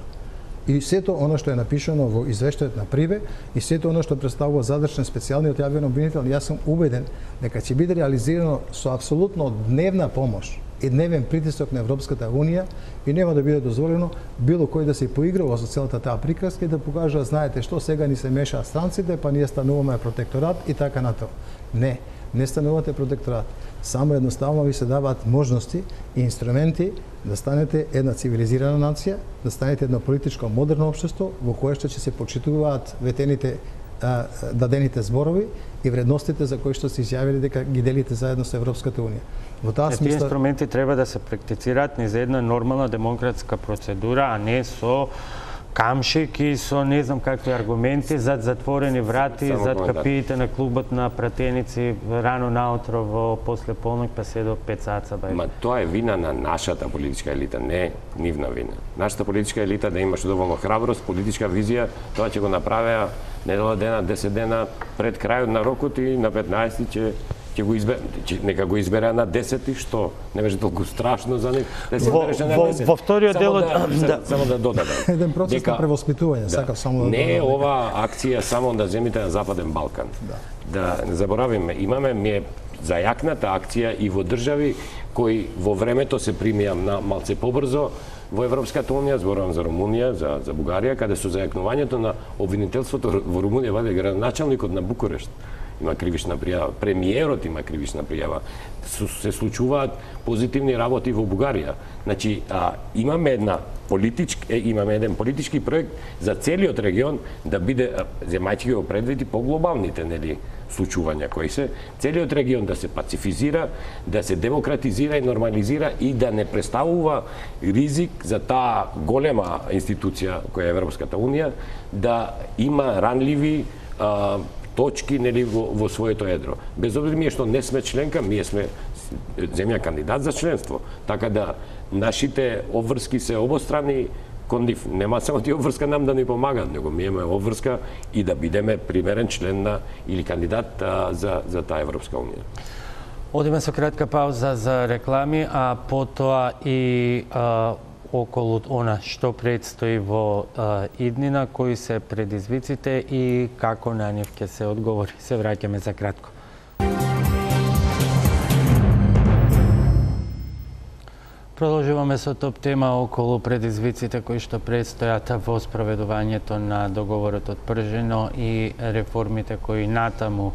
И сето она што е напишано во извештајот на Прибе и сето она што представува задржан специјалниот јавен обвинител, јас сум убеден дека ќе биде реализирано со апсолутно дневна помош и дневен притисок на Европската унија и нема да биде дозволено било кој да се поиграва со целата таа приказка и да покажа, знаете што, сега ни се мешаат странците, па ние стануваме протекторат и така натаму. Не станувате протекторат. Само едноставно ви се даваат можности и инструменти да станете една цивилизирана нација, да станете едно политичко модерно општество во кое што ќе се почитуваат ветените дадените зборови и вредностите за кои што се изјавили дека ги делите заедно со Европската унија. Во таа смисла, тие инструменти треба да се практицираат низ една нормална демократска процедура, а не со камшик и со не знам какви аргументи зад затворени врати, зад капиите на клубот на пратеници рано наутро во после полнок па се до 5 саца бај. Ма тоа е вина на нашата политичка елита, не нивна вина. Нашата политичка елита да имаше доволно храброст, политичка визија, тоа ќе го направеа недела дена, 10 дена пред крајот на рокот и на 15 ќе го избере, нека го избере на 10 што не беше толку страшно за нив. Да се избереше на 10. Во вториот дел само да додадам. Еден процес на превоспитување, сакав само да не е ова акција само да земите на Западен Балкан. Да не заборавиме, имаме зајакната акција и во држави кои во времето се примија на малце побрзо во Европската унија, зборувам за Румунија, за Бугарија, каде со зајакнувањето на обвинителството во Румунија ваде градоначалникот на Букурешт има кривична пријава, премиерот има кривична пријава, се случуваат позитивни работи во Бугарија. Значи, имаме еден политички проект за целиот регион да биде, земајќи го предвид по глобалните случувања кои се, целиот регион да се пацифизира, да се демократизира и нормализира и да не представува ризик за таа голема институција која е Европската унија, да има ранливи точки во своето едро. Без обзир ние што не сме членка, ние сме земја кандидат за членство. Така да нашите обврски се обострани кон нив. Нема само тие обврска нам да ни помагаат, него ми имаме обврска и да бидеме примерен член на или кандидат за таа Европска унија. Одиме со кратка пауза за реклами, а потоа и околу она што предстои во иднина, кои се предизвиците и како на нив ќе се одговори. Се враќаме за кратко. Продолжуваме со топ тема околу предизвиците кои што предстојат во спроведувањето на договорот од Пржино и реформите кои натаму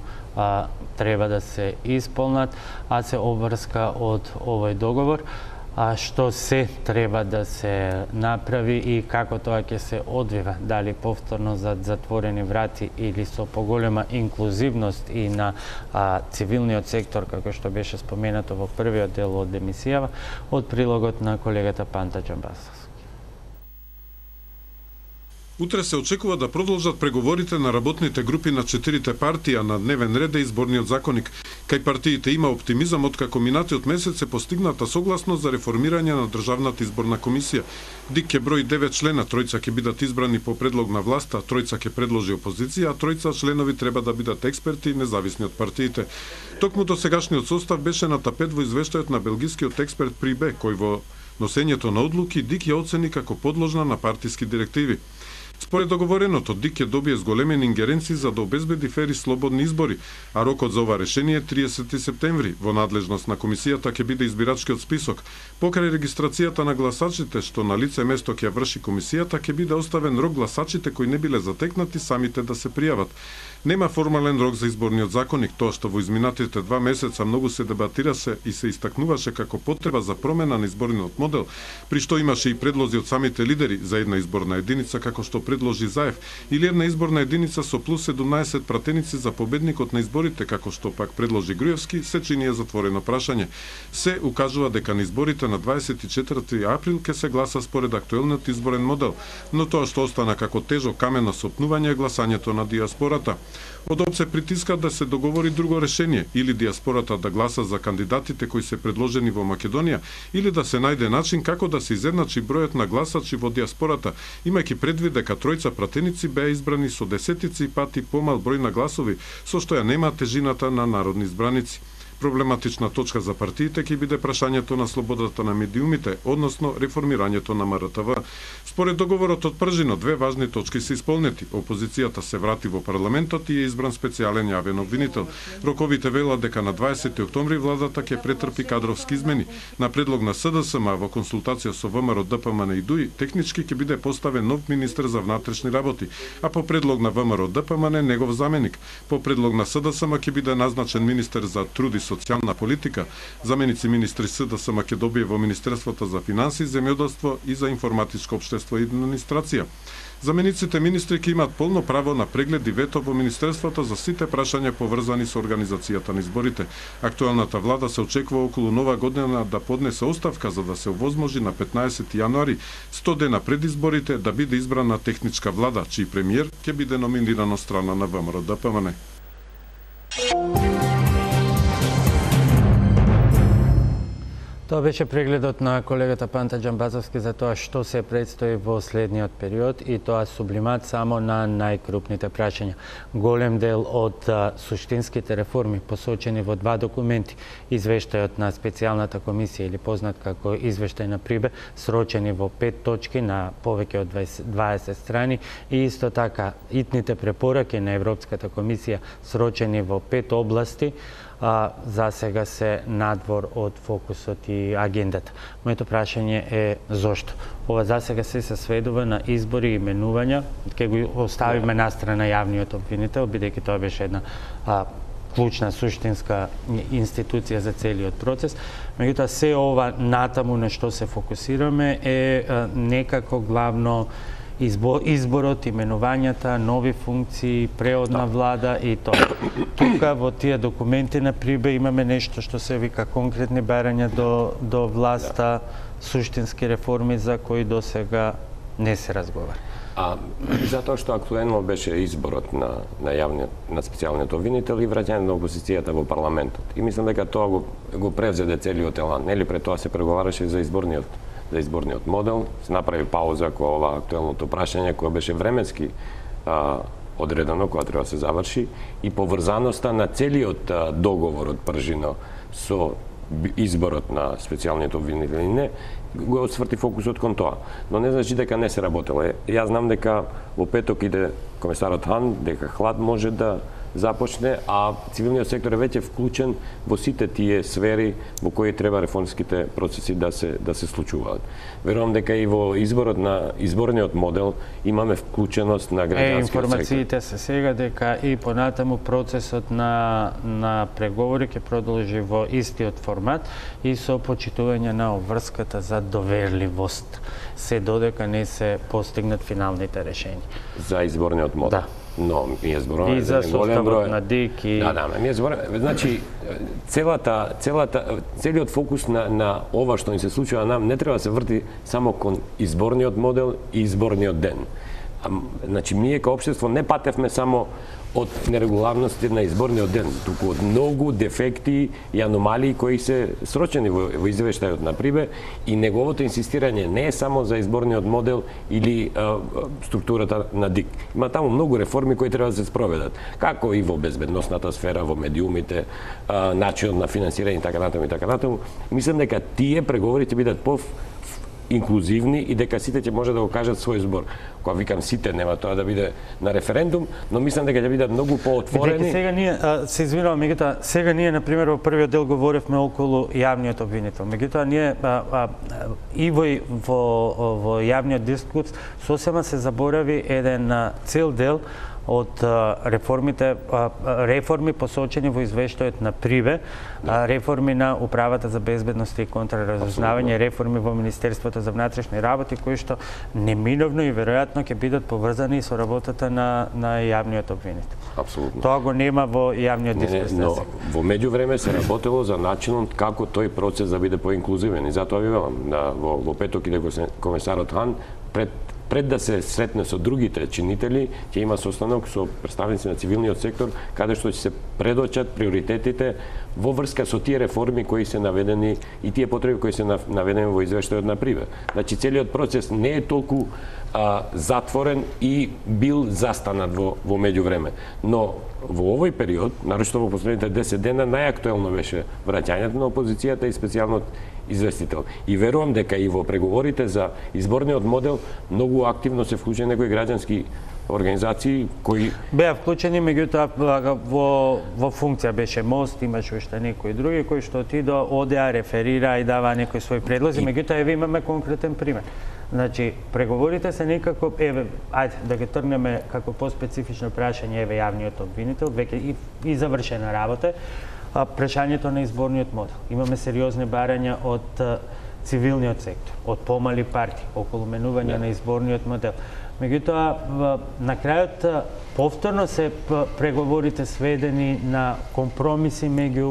треба да се исполнат, а се обврска од овој договор. Што се треба да се направи и како тоа ќе се одвива, дали повторно за затворени врати или со поголема инклузивност и на цивилниот сектор, како што беше споменато во првиот дел од емисијава, од прилогот на колегата Панта Џамбасовски. Утре се очекува да продолжат преговорите на работните групи на 4 партии, а на дневен ред е изборниот законник. Кај партиите има оптимизам откако минатиот месец се постигната согласност за реформирање на Државната изборна комисија. ДИК ќе брои 9 члена, 3 ќе бидат избрани по предлог на власта, 3 ќе предложи опозиција, а 3 членови треба да бидат експерти и независни од партиите. Токму досегашниот состав беше на тапет во извештајот на белгискиот експерт Прибе, кој во носењето на одлуки ДИК ја оцени како подложна на партиски директиви. Според договореното, ДИК ќе добие зголемени ингеренции за да обезбеди фери слободни избори, а рокот за ова решение е 30 септември. Во надлежност на комисијата ќе биде избирачкиот список. Покрај регистрацијата на гласачите, што на лице место ќе врши комисијата, ќе биде оставен рок гласачите кои не биле затекнати самите да се пријават. Нема формален рок за изборниот законник, тоа што во изминатите 2 месеца многу се дебатираше и се истакнуваше како потреба за промена на изборниот модел, при што имаше и предлози од самите лидери за една изборна единица, како што предложи Заев, или една изборна единица со плюс 17 пратеници за победникот на изборите, како што пак предложи Груевски, се чини е затворено прашање. Се укажува дека на изборите на 24 април ќе се гласа според актуелниот изборен модел, но тоа што остана како тежок камен на сопнување е гласањето на диаспората. Од ОП се притиска да се договори друго решение, или диаспората да гласа за кандидатите кои се предложени во Македонија, или да се најде начин како да се изедначи бројот на гласачи во диаспората, имајќи предвид дека 3 пратеници беа избрани со десетици пати помал број на гласови, со што ја нема тежината на народни избраници. Проблематична точка за партиите ќе биде прашањето на слободата на медиумите, односно реформирањето на МРТВ. Според договорот од Пржино, 2 важни точки се исполнети. Опозицијата се врати во парламентот и е избран специјален јавен обвинител. Роковите велат дека на 20 октомври владата ќе претрпи кадровски измени. На предлог на СДСМ во консултација со ВМРО, ДПМН и ДУИ, технички ќе биде поставен нов министер за внатрешни работи, а по предлог на ВМРО, ДПМН негов заменик. По предлог на СДСМ ќе биде назначен министер за труд и социјална политика, заменици министри СДС Македонија во Министерството за финансии, земјоделство и за информатичко општество и администрација. Замениците министри ќе имаат полно право на преглед и вето во Министерството за сите прашања поврзани со организацијата на изборите. Актуелната влада се очекува околу нова година да поднесе оставка за да се овозможи на 15 јануари, 100 дена пред изборите, да биде избрана техничка влада, чиј премиер ќе биде номиниран од страна на ВМРО-ДПМН. Тоа беше прегледот на колегата Панта Џамбазовски за тоа што се предстои во следниот период и тоа сублимат само на најкрупните прашања. Голем дел од суштинските реформи посочени во два документи, извештајот на специјалната комисија или познат како извештај на Прибе, срочени во 5 точки на повеќе од 20 страни и исто така итните препораки на Европската комисија срочени во 5 области, за сега се надвор од фокусот и агендата. Моето прашање е зошто? Ова за сега се сведува на избори и именувања, ќе го оставиме настрана јавниот обвинител, бидејќи тоа беше една клучна, суштинска институција за целиот процес. Меѓутоа, се ова натаму на што се фокусираме е некако главно изборот, именувањата, нови функции, преодна влада и тоа. Тука во тие документи на Прибе имаме нешто што се вика конкретни барања до власта, суштински реформи за кои до сега не се разговара. Затоа што актуелно беше изборот на специјалниот обвинител и враќање на опозицијата во парламентот. И мислам дека тоа го превзеде целиот елан. Нели пред тоа се преговараше за изборниот модел, се направи пауза кога ова актуелното прашање кое беше временски одредено, кога треба да се заврши, и поврзаноста на целиот договор од пржино со изборот на специјалниот обвинител и не, го отсврти фокусот кон тоа. Но не значи дека не се работело. Јас знам дека во петок иде комесарот Хан, дека хлад може да започне, а цивилниот сектор е веќе вклучен во сите тие сфери во кои треба реформските процеси да се случуваат. Верувам дека и во изборниот модел имаме вклученост на граѓанскиот сектор. Информациите се сега дека и понатаму процесот на преговори ќе продолжи во истиот формат и со почитување на обврската за доверливост, се додека не се постигнат финалните решенија. За изборниот модел. Да. Но ние зборуваме и за составот на ДИК и ние зборуваме, значи целиот фокус на ова што ни се случува нам не треба да се врти само кон изборниот модел и изборниот ден. Значи ние како општество не патевме само од нерегуларности на изборниот ден, туку од многу дефекти и аномалии кои се срочени во извештајот на Прибе, и неговото инсистирање не е само за изборниот модел или структурата на ДИК. Има таму многу реформи кои треба да се спроведат, како и во безбедносната сфера, во медиумите, начинот на финансирање и така натаму. Мислам дека тие преговори ќе бидат инклузивни и дека сите ќе може да го кажат свој збор. Кога викам сите, нема тоа да биде на референдум, но мислам дека ќе бидат многу поотворени. Сега ние се извинувам, меѓутоа сега ние на пример во првиот дел говоревме околу јавниот обвинител. Меѓутоа ние и во јавниот дискурс сосема се заборави еден цел дел од реформи посочени во извештајот на Прибе, реформи на Управата за безбедност и контраразузнавање, реформи во Министерството за внатрешни работи, кои што неминовно и веројатно ќе бидат поврзани со работата на јавниот обвинител. Апсолутно. Тоа го нема во јавниот дискурс. Но во меѓувреме се работело за начинот како тој процес да биде поинклузивен, и затоа ви велам, во петок иде комесарот Хан пред да се сретне со другите чинители, ќе има состанок со представници на цивилниот сектор, каде што ќе се предочат приоритетите во врска со тие реформи кои се наведени и тие потреби кои се наведени во извештајот на Прибе. Значи целиот процес не е толку затворен и бил застанат во меѓувреме. Но во овој период, нарочито во последните 10 дена, најактуелно беше враќањето на опозицијата и специјалниот известител. И верувам дека и во преговорите за изборниот модел многу активно се вклучени некои граѓански организации кои беа вклучени, меѓутоа во функција беше Мост, имаше уште некои други кои што одеа, реферира и дава некои своји предлози, меѓутоа еве имаме конкретен пример. Значи, преговорите се некако, ајде да ги тргнеме како поспецифично прашање, еве јавниот обвинител, веќе и завршена работа. прашањето на изборниот модел. Имаме сериозни барања од цивилниот сектор, од помали партии, околу менување на изборниот модел. Меѓутоа, на крајот повторно се преговорите сведени на компромиси меѓу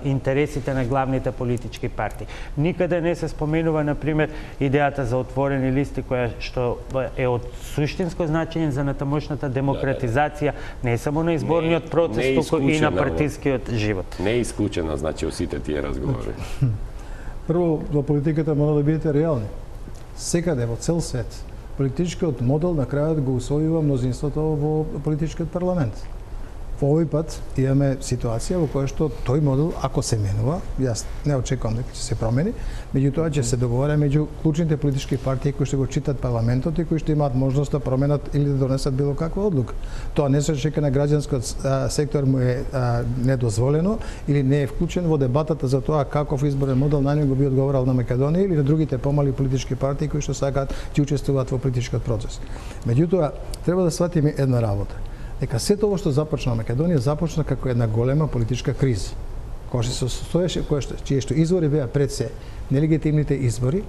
интересите на главните политички партии. Никаде не се споменува, например, идејата за отворени листи, која што е од суштинско значење за натамошната демократизација не само на изборниот процес, туку и на партискиот живот. Не е исклучена, значи, од сите тие разговори. Прво, во политиката мора да бидете реални. Секаде во цел свет политичкиот модел на крајот го усвојува мнозинството во политичкиот парламент. Во овој пат имаме ситуација во која што тој модел, ако се менува, јас не очекувам дека ќе се промени, меѓутоа ќе се договара меѓу клучните политички партии кои што го читат парламентот и кои што имаат можност да променат или да донесат било каква одлука. Тоа не се чека на граѓанскиот сектор му е недозволено или не е вклучен во дебатата за тоа каков изборен модел најмногу би одговарал на Македонија или на другите помали политички партии кои што сакаат ќе учествуваат во политичкиот процес. Меѓутоа, треба да сватиме една работа. Дека сето ово што започна Македонија започна како една голема политичка криза, која што се состоеше, чие што извори беа пред се нелегитимните избори,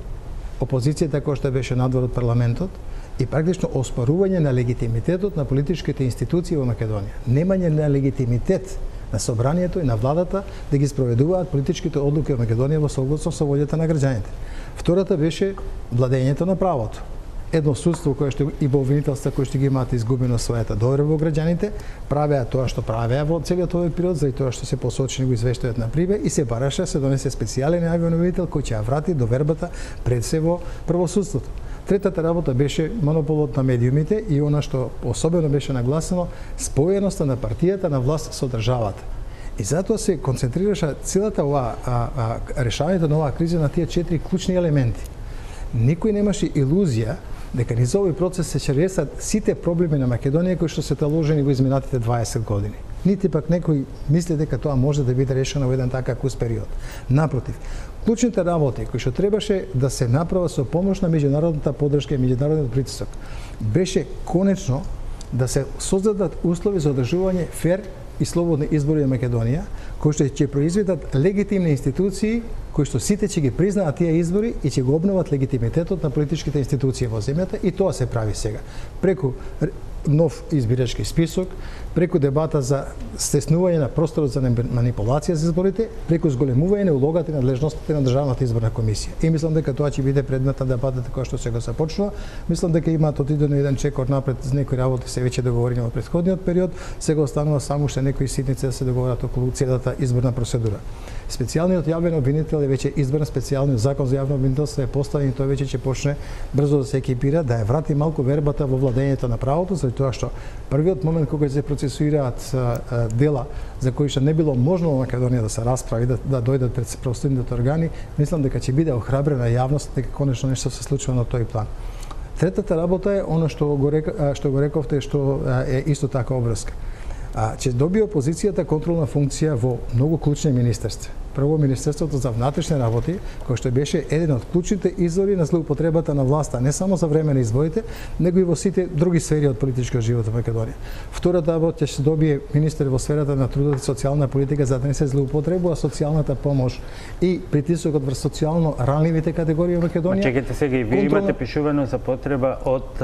опозицијата која што беше надвор од парламентот и практично оспорување на легитимитетот на политичките институции во Македонија. Немање на легитимитет на собранието и на владата да ги спроведуваат политичките одлуки во Македонија во согласно со волјата на граѓаните. Втората беше владењето на правото. Едно судство кое што и во обвинителства кои што ги имаат изгубено својата доверба во граѓаните, правеа тоа што правеа во целиот овој период, заради тоа што се посочени го извештајот на Прибе и се бараше се донесе специјален јавен обвинител кој ќе ја врати довербата пред се во правосудството. Третата работа беше монополот на медиумите и она што особено беше нагласено, споеноста на партијата на власт со државата. И затоа се концентрираше целата оваа решавањето на оваа криза на тие 4 клучни елементи. Никој немаше илузија дека низ овој процес се ќе решат сите проблеми на Македонија кои што се таложени во изминатите 20 години. Нити пак некој мисли дека тоа може да биде решено во еден такав кус период. Напротив, клучните работи кои што требаше да се направат со помош на меѓународната поддршка и меѓународниот притисок беше конечно да се создадат услови за одржување фер и слободни избори во Македонија, кои што ќе произведат легитимни институции, кои што сите ќе ги признаат тие избори и ќе го обноват легитимитетот на политичките институции во земјата и тоа се прави сега. Преку нов избирачки список, преку дебата за стеснување на просторот за манипулација за изборите, преку зголемување на улогата и надлежностите на Државната изборна комисија. И мислам дека тоа ќе биде предмет на дебатата која што сега започнува. Мислам дека имаат отидено еден чекор напред за некои работи се веќе договорени во претходниот период, сега останува само уште некои ситници да се договорат околу целата изборна процедура. Специјалниот јавен обвинител е веќе избран, специјалниот закон за јавно обвинителство е поставен и тој веќе ќе почне брзо да се екипира, да ја врати малку вербата во владењето на правото, заради тоа што првиот момент кога се процесуираат дела за кои што не било можно во Македонија да се расправи, да дојдат пред правосудните органи, мислам дека ќе биде охрабрена јавност дека конечно нешто се случува на тој план. Третата работа е она што го рековте, што е исто така обврска. Ќе добие опозицијата контролна функција во многу клучни министерства. Прво, Министерството за внатрешни работи, кој што беше еден од клучните извори на злоупотребата на власта, не само за време на изборите, него и во сите други сфери од политичкиот живот во Македонија. Втората работа ќе добие министер во сферата на трудот и социјална политика за да не се злоупотребува социјалната помош и притисокот врз социјално ранливите категории во Македонија. Чекайте сега и вие имате пишувано за потреба од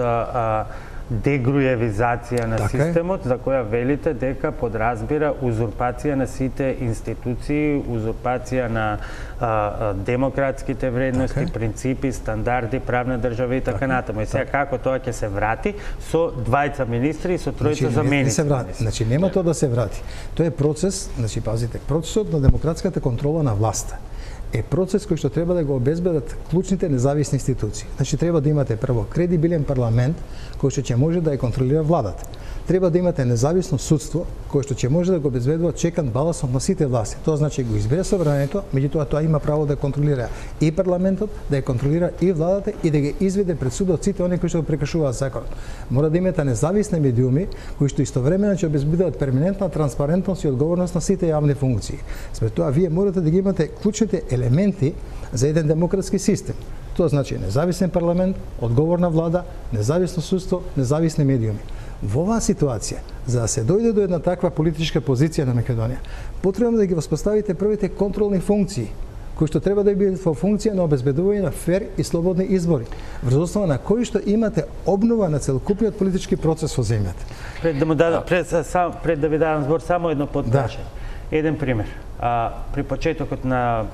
дегруевизација на системот, за која велите дека подразбира узурпација на сите институции, узурпација на демократските вредности, принципи, стандарди, правна држава и така натаму. И сега како тоа ќе се врати со двајца министри и со тројца заменици? Значи нема тоа да се врати. Тоа е процес, значи пазите, процесот на демократската контрола на власта е процес кој што треба да го обезбедат клучните независни институции. Значи треба да имате прво кредибилен парламент кој што ќе може да ја контролира владата. Треба да имате независно судство кое што ќе може да го обезбедува чекан балансот на сите власти. Тоа значи го избере собранието, меѓутоа тоа има право да контролира и парламентот, да ја контролира и владата и да ги изведе пред судот сите оние кои што го прекршуваат законот. Мора да имате независни медиуми кои што истовремено ќе обезбедуваат перманентна транспарентност и одговорност на сите јавни функции. Според тоа вие морате да ги имате клучните елементи за еден демократски систем. Тоа значи независен парламент, одговорна влада, независно судство, независни медиуми. Во оваа ситуација, за да се дојде до една таква политичка позиција на Македонија, потребно да ги воспоставите првите контролни функции, кои што треба да бидат во функција на обезбедување на фер и слободни избори, врз основа на кои што имате обнова на целокупниот политички процес во земјата. Пред да ви дадам збор, само едно подпрашање. Еден пример. При почетокот на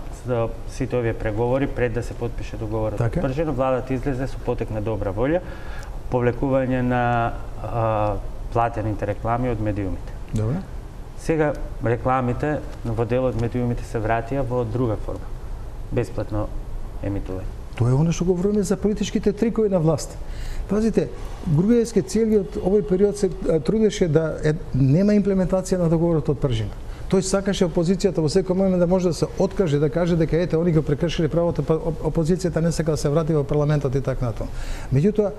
сите овие преговори, пред да се потпише договорот Пржино, владата излезе со потек на добра волја, повлекување на платените реклами од медиумите. Добре. Сега рекламите во дел од медиумите се вратија во друга форма. Бесплатно емитување. Тоа е оно што говориме за политичките трикови на власт. Пазите, Груевски целиот овој период се трудеше да нема имплементација на договорот од Пржина. Тој сакаше опозицијата во секој момент да може да се откаже, да каже дека ете, они го прекршиле правото, па опозицијата не сака да се врати во парламентот и така натаму. Меѓутоа,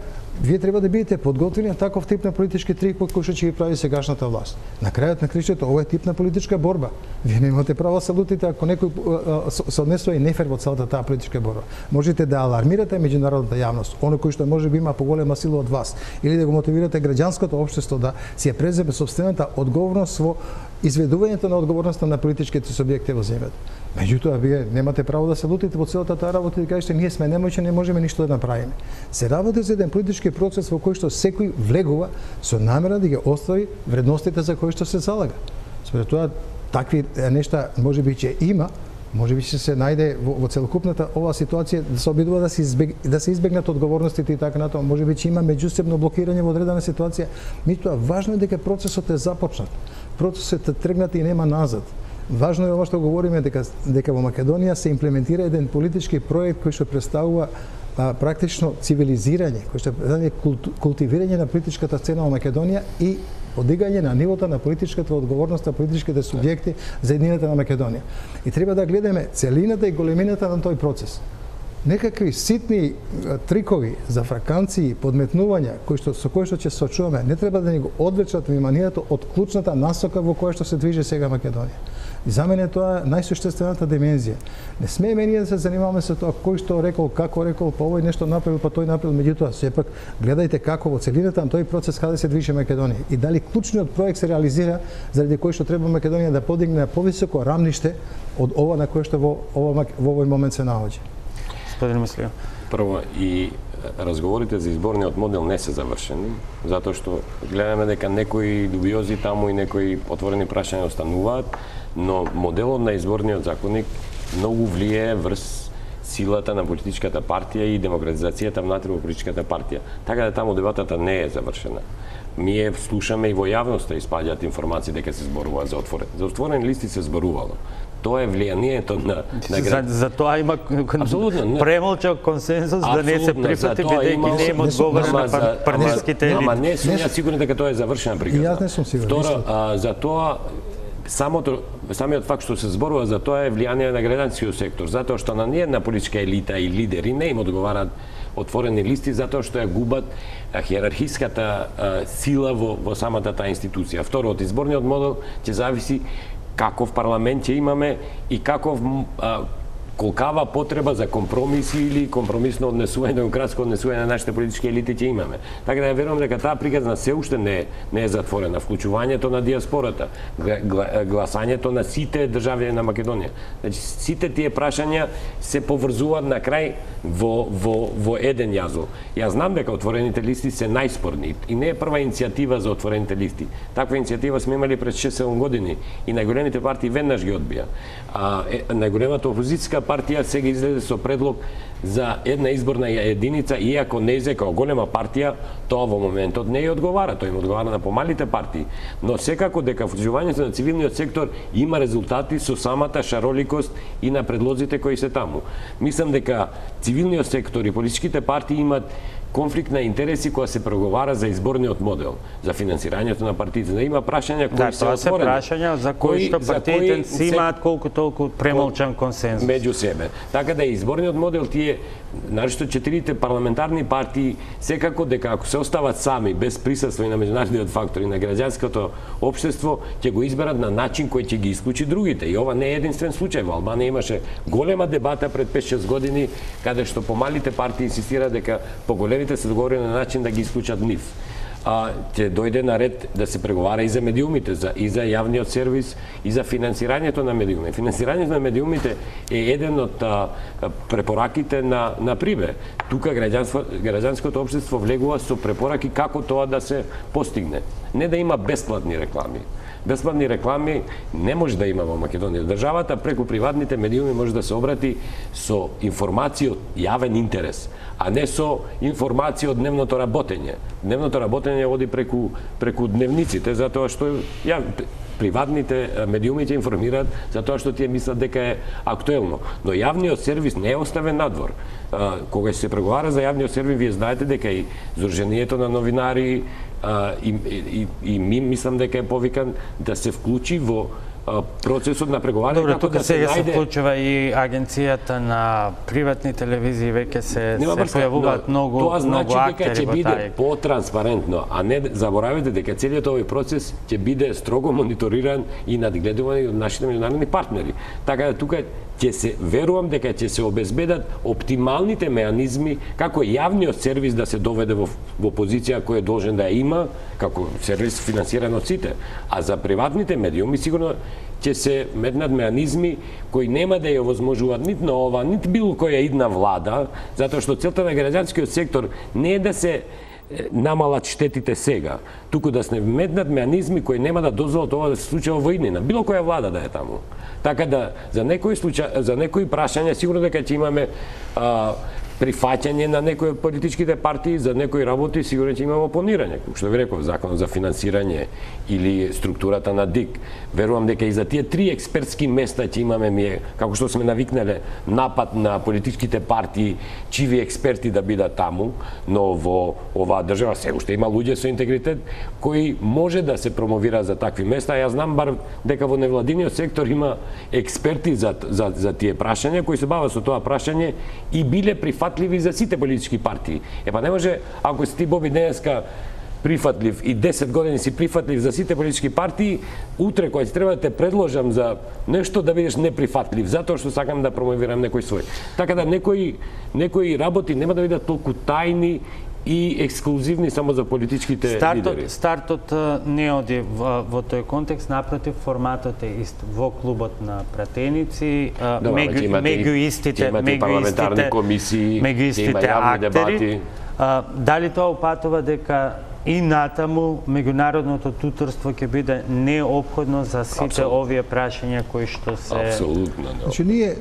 вие треба да бидете подготвени на таков тип на политички трик кој што ќе ви прави сегашната власт. На крајот на кришето, ова е тип на политичка борба. Вие немате право да се лутите ако некој се однесува и нефер во целата таа политичка борба. Можете да алармирате меѓународната јавност, оној кој што можеби има поголема сила од вас, или да го мотивирате граѓанското општество да си ја преземе сопствената одговорност во изведувањето на одговорноста на политичките субјекти во земјата. Меѓутоа, вие немате право да се лутите во целата таа работа и да кажете ние сме немоќни, не можеме ништо да направиме. Се работи за еден политички процес во кој што секој влегува со намера да ги остави вредностите за кои што се залага. Според тоа, такви нешта можеби ќе има, можеби ќе се најде во целокупната оваа ситуација да се обидува да се избегнат одговорностите и така натаму, можеби ќе има меѓусебно блокирање во одредена ситуација. Меѓутоа, важно е дека процесот е започнат. Процесот е тргнат и нема назад. Важно е ова што говориме дека во Македонија се имплементира еден политички проект кој што представува практично цивилизирање, кој што представува култивирање на политичката сцена во Македонија и подигање на нивото на политичката одговорност на политичките субјекти за еднината на Македонија. И треба да гледаме целината и големината на тој процес. Некакви ситни трикови за фраканции, подметнувања со кои што ќе се сочуваме, не треба да ни го одвлечат вниманието од клучната насока во која што се движи сега Македонија. И за мене тоа е најсуштествената димензија. Не смееме ние да се занимаваме со тоа кој што рекол, како рекол, па овој нешто направил, па тој направил, меѓутоа сепак гледајте како во целината на тој процес каде се движи Македонија и дали клучниот проект се реализира заради кој што треба Македонија да подигне на повисоко рамниште од ова на кое што во овој момент се наоѓа. Прво, и разговорите за изборниот модел не се завршени, затоа што гледаме дека некои дубиози таму и некои отворени прашања остануваат, но моделот на изборниот законник многу влијае врз силата на политичката партија и демократизацијата внатре во политичката партија. Така да таму дебатата не е завршена. Ние слушаме и во јавноста испаѓаат информации дека се зборува за отворени. За отворени листи се зборувало. Тоа е влијанието на За тоа има премолчал консензус да не се прифати бидејќи не има одговор на партиските елити. Ама не сум ја сигурен дека тоа е завршена приказна. Јас не сум сигурен. Второ, за тоа самиот факт што се зборува за тоа е влијание на граѓанскиот сектор, затоа што на ние на политичка елита и лидери не им одговараат отворени листи затоа што ја губат хиерархиската сила во самата таа институција. Второ, од изборниот модел ќе зависи каков парламент ќе имаме и колкава потреба за компромиси или компромисно однесување, демократско однесување на нашите политички елити ќе имаме. Така да ја верувам дека таа приказна се уште не е затворена. Вклучувањето на диаспората, гласањето на сите државјани на Македонија. Значи, сите тие прашања се поврзуваат на крај во еден јазол. Јас знам дека отворените листи се најспорни и не е прва иницијатива за отворените листи. Таква иницијатива сме имали пред 6-7 години и најголемите партии веднаш ги одбија. Најголемата опозицијска партија сега излезе со предлог за една изборна единица, иако НЕЗ како голема партија, тоа во моментот не ја одговара, тој им одговара на помалите партии. Но секако дека вклучувањето на цивилниот сектор има резултати со самата шароликост и на предлозите кои се таму. Мислам дека цивилниот сектор и политичките партии имат конфликт на интереси кога се преговара за изборниот модел, за финансирањето на партиите. Да има прашања кои се отворени. Тоа се прашања за кои што партиите си имаат колку толку премолчан консензус меѓу себе. Така да изборниот модел тие навошто 4 парламентарни партии секако дека ако се остават сами без присуство и на меѓународниот фактор и на граѓанското општество, ќе го изберат на начин кој ќе ги исклучи другите. И ова не е единствен случај. Во Албанија имаше голема дебата пред 5-6 години каде што помалите партии инсистираат дека поголемите се договорени на начин да ги исклучат нив. Ќе дојде на ред да се преговара и за медиумите, и за јавниот сервис, и за финансирањето на медиуми. Финансирањето на медиумите е еден од препораките на Прибе. Тука граѓанското општество влегува со препораки како тоа да се постигне. Не да има бесплатни реклами. Бесплатни реклами не може да има во Македонија. Државата преку приватните медиуми може да се обрати со информација од јавен интерес, а не со информација од дневното работење. Дневното работење оди преку дневниците, затоа што приватните медиуми ќе информираат за тоа што тие мислат дека е актуелно. Но јавниот сервис не е оставен надвор. Кога се преговара за јавниот сервис, вие знаете дека и Сдруженијето на новинари и ми мислам дека е повикан да се вклучи во процесот на преговарање. Добро, тука сега се вклучува и агенцијата на приватни телевизии, веќе се појавуваат многу тоа значи дека ќе биде тај потранспарентно, а не заборавете дека целиот овој процес ќе биде строго мониториран и надгледуван од нашите меѓународни партнери. Така да тука ќе се верувам дека ќе се обезбедат оптималните меанизми како јавниот сервис да се доведе во позиција која е должен да ја има како сервис финансиран од сите, а за приватните медиуми сигурно ќе се метнат меанизми кои нема да ја овозможуваат нит на ова, нит било која идна влада, затоа што целта на граѓанскиот сектор не е да се намалат штетите сега, туку да се метнат меанизми кои нема да дозволат ова да се случи во иднина, било која влада да е таму. Така да за некои прашања сигурно дека ќе имаме прифаќање на некои од политичките партии, за некои работи сигурно ќе имаме опонирање, како што ви реков, законот за финансирање или структурата на ДИК. Верувам дека и за тие 3 експертски места ќе имаме како што сме навикнале напад на политичките партии, чиви експерти да бидат таму, но во оваа држава се уште има луѓе со интегритет кои може да се промовира за такви места. Јас знам бар дека во невладиниот сектор има експерти за тие прашања кои се бават со тоа прашање и биле прифатливи за сите политички партии. Не може, ако си ти Боби денеска прифатлив и 10 години си прифатлив за сите политички партии, утре кога ќе треба да те предложам за нешто да бидеш неприфатлив, затоа што сакам да промовирам некој свој. Така да некои работи нема да бидат толку тајни и ексклузивни само за политичките лидери. Стартот не оди во тој контекст, напротив, форматот е ист. Во клубот на пратеници, меѓу истите парламентарни комисии, има јавни дебати. Дали тоа упатува дека и натаму меѓународното туторство ќе биде неопходно за сите овие прашања кои што се... Апсолутно. Значи, ние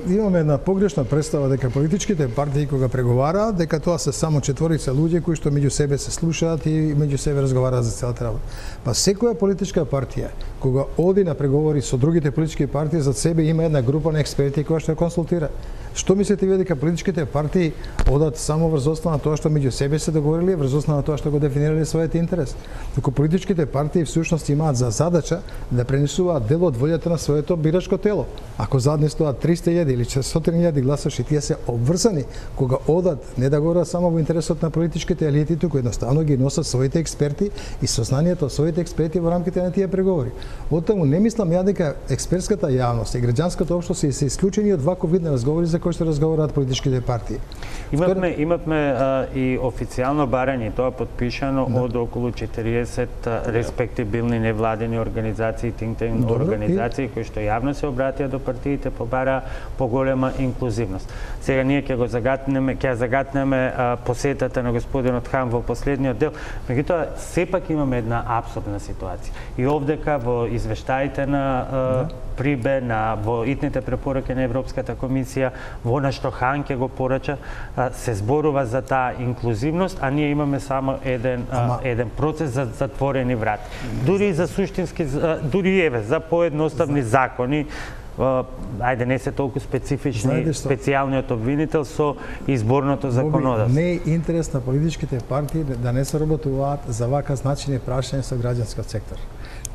имаме една погрешна представа дека политичките партии кога преговараат, дека тоа се само 4 луѓе кои што меѓу себе се слушаат и меѓу себе разговараат за целата работа. Па секоја политичка партија кога оди на преговори со другите политички партии, за себе има една група на експерти која што консултира. Што мислите вие дека политичките партии одат само врз основа на тоа што меѓу себе се договориле, врз основа на тоа што го дефинирале својот интерес? Докато политичките партии всушност имаат за задача да пренесуваат дел од волјата на своето бирачко тело. Ако заднесуваат 300.000 или 400.000 гласаши, тие се обврзани кога одат не да говорат само во интересот на политичките елити, туку едноставно ги носат своите експерти и сознанието од своите експерти во рамките на тие преговори. Оттаму не мислам ја дека експертската јавност и граѓанското општество се исклучени од ваков вид на разговори за кои што разговараат политичките партии. Имавме и официјално барање, тоа подпишано од околу 40 респектибилни невладени организации, think tank организации кои што јавно се обратија до партиите, побара поголема инклузивност. Сега ние ќе загатнеме посетата на господинот Хан во последниот дел, меѓутоа сепак имаме една апсурдна ситуација. И овдека во извештаите на Прибе, во итните препораки на Европската комисија, во на што Хан ќе го порача, се зборува за таа инклузивност, а ние имаме само еден процес за затворени врати. Дури за суштински, дури за поедноставни закони, ајде не се толку специфични специјалниот обвинител со изборното законодавство. Не е интерес на политичките партии да не се работуваат за вака значајни прашања со граѓанскиот сектор.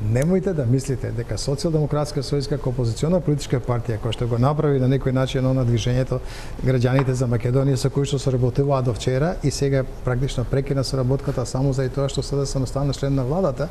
Немојте да мислите дека Социјалдемократска сојuz како опозициона политичка партија која што го направи на некој начин на движењето граѓаните за Македонија со кои што се работуваат до вчера и сега практично прекина соработката само заради тоа што СДСМ стана член на владата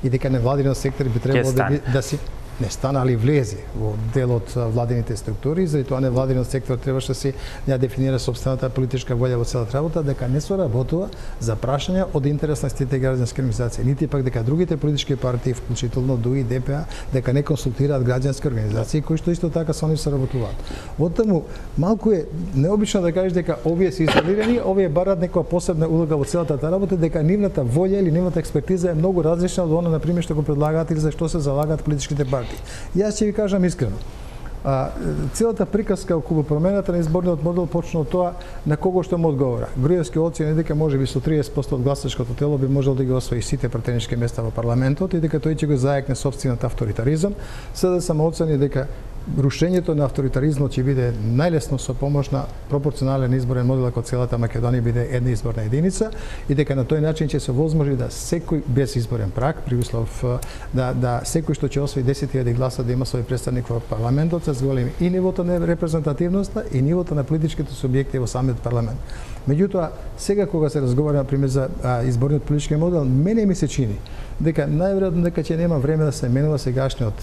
и дека невладиниот сектор би требало да си не стана, али влезе во дел од владините структури, заради тоа невладиниот сектор требаше да си ја дефинира собствената политичка волја во целата работа, дека не соработува за прашања од интерес на сите граѓански организации, нити пак дека другите политички партии, вклучително ДУИ, ДПА, дека не консултираат граѓански организации кои што исто така со нив соработуваат. Оттаму малку е необично да кажеш дека овие се изолирани, овие барат некоја посебна улога во целата таа работа, дека нивната волја или нивната експертиза е многу различна од она на пример што го предлагаат или за што се залагаат политичките партии. Јас ќе ви кажам искрено. Целата приказка околу промената на изборниот модел почна од тоа на кого што му одговора. Груевски оцени дека можеби со 30% од гласачкото тело би можел да ги освои сите пратенички места во парламентот и дека тој ќе го зајакне сопствениот авторитаризам. СДСМ оцени дека рушењето на авторитаризмот ќе биде најлесно со помош на пропорционален изборен модел ако целата Македонија биде една изборна единица и дека на тој начин ќе се возможи да секој без изборен праг при услов да секој што ќе освои 10.000 гласа да има свој представник во парламентот, се зголеми и нивото на репрезентативноста и нивото на политичките субјекти во самиот парламент. Меѓутоа, сега кога се разговара на пример за изборниот политички модел, мене ми се чини дека најверојатно дека ќе нема време да се менува сегашниот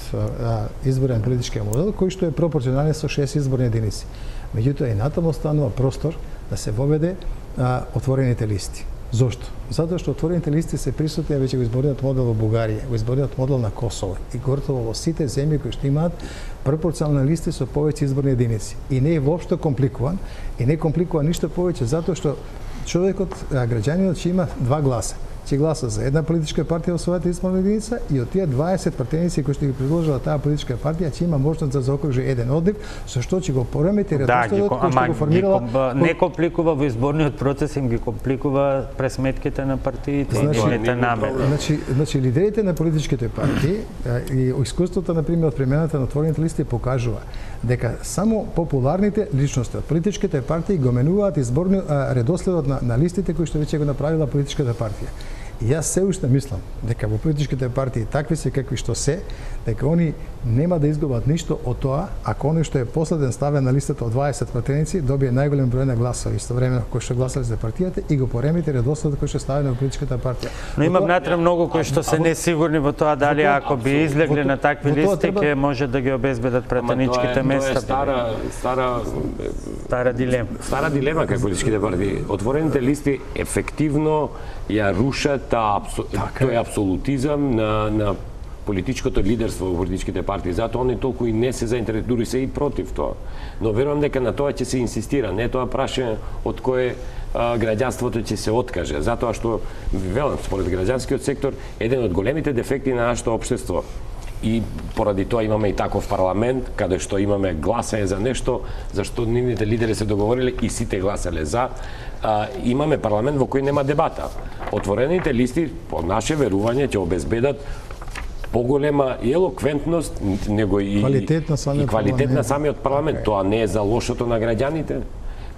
изборен политички модел кој што е пропорционален со 6 изборни единици. Меѓутоа и натаму останува простор да се воведе отворените листи. Зошто? Затоа што отворените листи се присутни веќе во изборниот модел во Бугарија, во изборниот модел на Косово и готово во сите земји кои што имаат пропорционални листи со повеќе изборни единици. И не е воопшто компликуван и не компликува ништо повеќе затоа што човекот, граѓанинот ќе има 2 гласа. Ќе гласа за една политичка партија во својата изборна единица и од тие 20 пратеници кои што ги предложила таа политичка партија ќе има можност да заокружи еден од нив, со што ќе го поремети редоследот кој што го формирала. Не компликува во изборниот процес, им ги компликува пресметките на партиите и нивните намери. Значи лидерите на политичките партии и искуството на пример од премената на отворените листи покажува дека само популарните личности од политичките партии го менуваат редоследот на листите кои што веќе го направила политичката партија. И јас се уште мислам дека во политичките партии такви се какви што се, дека они нема да изгубат ништо од тоа ако оној што е последен ставен на листата од 20 пратеници добие најголем број на гласови истовремено кои што гласале за партијата и го поремети редоследот кој што е ставен во политичката партија. Но има внатре многу кои што се несигурни во тоа дали ако би излегли на такви листи ќе може да ги обезбедат пратеничките места. Стара дилема. Стара дилема кај политичките партии. Отворените листи ефективно ја рушат тој апсолутизам на политичкото лидерство во политичките партии. Затоа они толку и не се заинтересувани, дури се и против тоа. Но верувам дека на тоа ќе се инсистира, не тоа прашање од кое граѓанството ќе се откаже, затоа што велам според граѓанскиот сектор еден од големите дефекти на нашето општество и поради тоа имаме и таков парламент каде што имаме гласање за нешто за што нивните лидери се договориле и сите гласале за. Имаме парламент во кој нема дебата. Отворените листи по наше верување ќе обезбедат поголема и елоквентност, него и квалитет на самиот парламент. Тоа не е за лошото на граѓаните.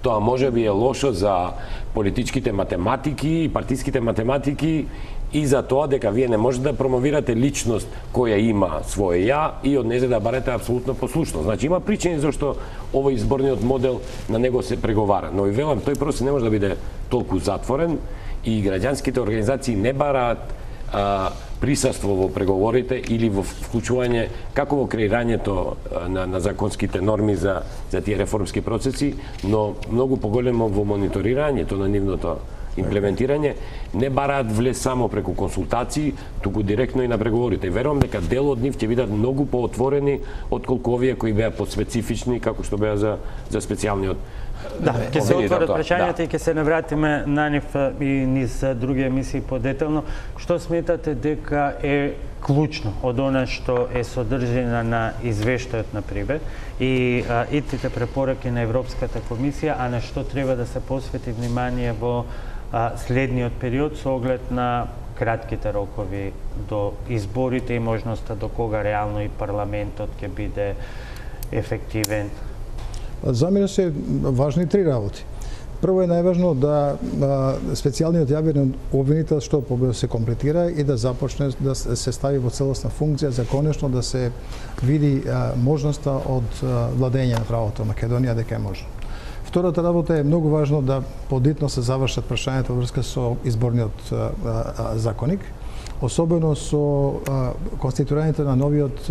Тоа може би е лошо за политичките математики, партиските математики и за тоа дека вие не можете да промовирате личност која има своје ја и од нејзе да барате апсолутно послушност. Значи има причини зашто овој изборниот модел на него се преговара. Но и велам, тој процес не може да биде толку затворен и граѓанските организации не бараат присуство во преговорите или во вклучување како во креирањето на законските норми за тие реформски процеси, но многу поголемо во мониторирањето на нивното имплементирање, не бараат влез само преку консултации, туку директно и на преговорите. И верувам дека дел од нив ќе бидат многу поотворени отколку овие кои беа подспецифични како што беа за специјалниот. Да, ќе се отворат прашањата и ќе се навратиме на нив и низ други емисии подетелно. Што сметате дека е клучно од она што е содржина на извештајот на Прибе и итите препораки на Европската комисија, а на што треба да се посвети внимание во следниот период со оглед на кратките рокови до изборите и можноста до кога реално и парламентот ќе биде ефективен? За мене се важни три работи. Прво е најважно да специјалниот јавен обвинител што побрзо се комплетира и да започне да се стави во целосна функција за конечно да се види можноста од владење на правото Македонија дека е можно. Втората работа е многу важно да подитно се завршат прашањата во врска со изборниот законник, особено со конституирањето на новиот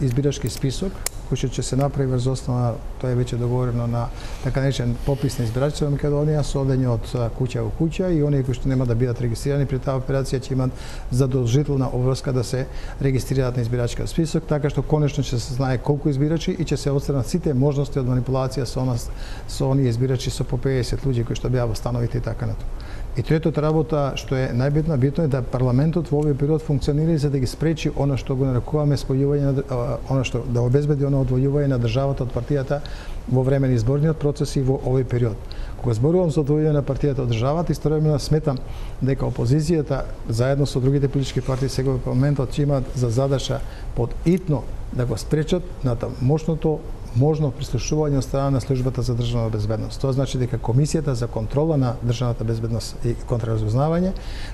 избирачки список, кој ќе се направи врз основа, тоа е веќе договорено на така наречен попис на избирачите во Македонија, со одење од куќа во куќа и оние кои што нема да бидат регистрирани при таа операција ќе имат задолжителна обврска да се регистрираат на избирачкиот список, така што конечно ќе се знае колку избирачи и ќе се отстранат сите можности од манипулација со оние избирачи со по 50 луѓе кои што беа во становите и така натаму. И третата работа, што е најбитно, битно е да парламентот во овој период функционира за да ги спречи она што го нарекуваме спојување на она што да обезбеди она одвојување на државата од партијата во време на изборниот процес и во овој период. Кога зборувам за одвојување на партијата од државата, истовремено сметам дека опозицијата заедно со другите политички партии сега во парламентот ќе имаат за задача под итно да го спречат на мощното можно прислушување од страна на службата за државна безбедност. Тоа значи дека Комисијата за контрола на државната безбедност и контраразузнавање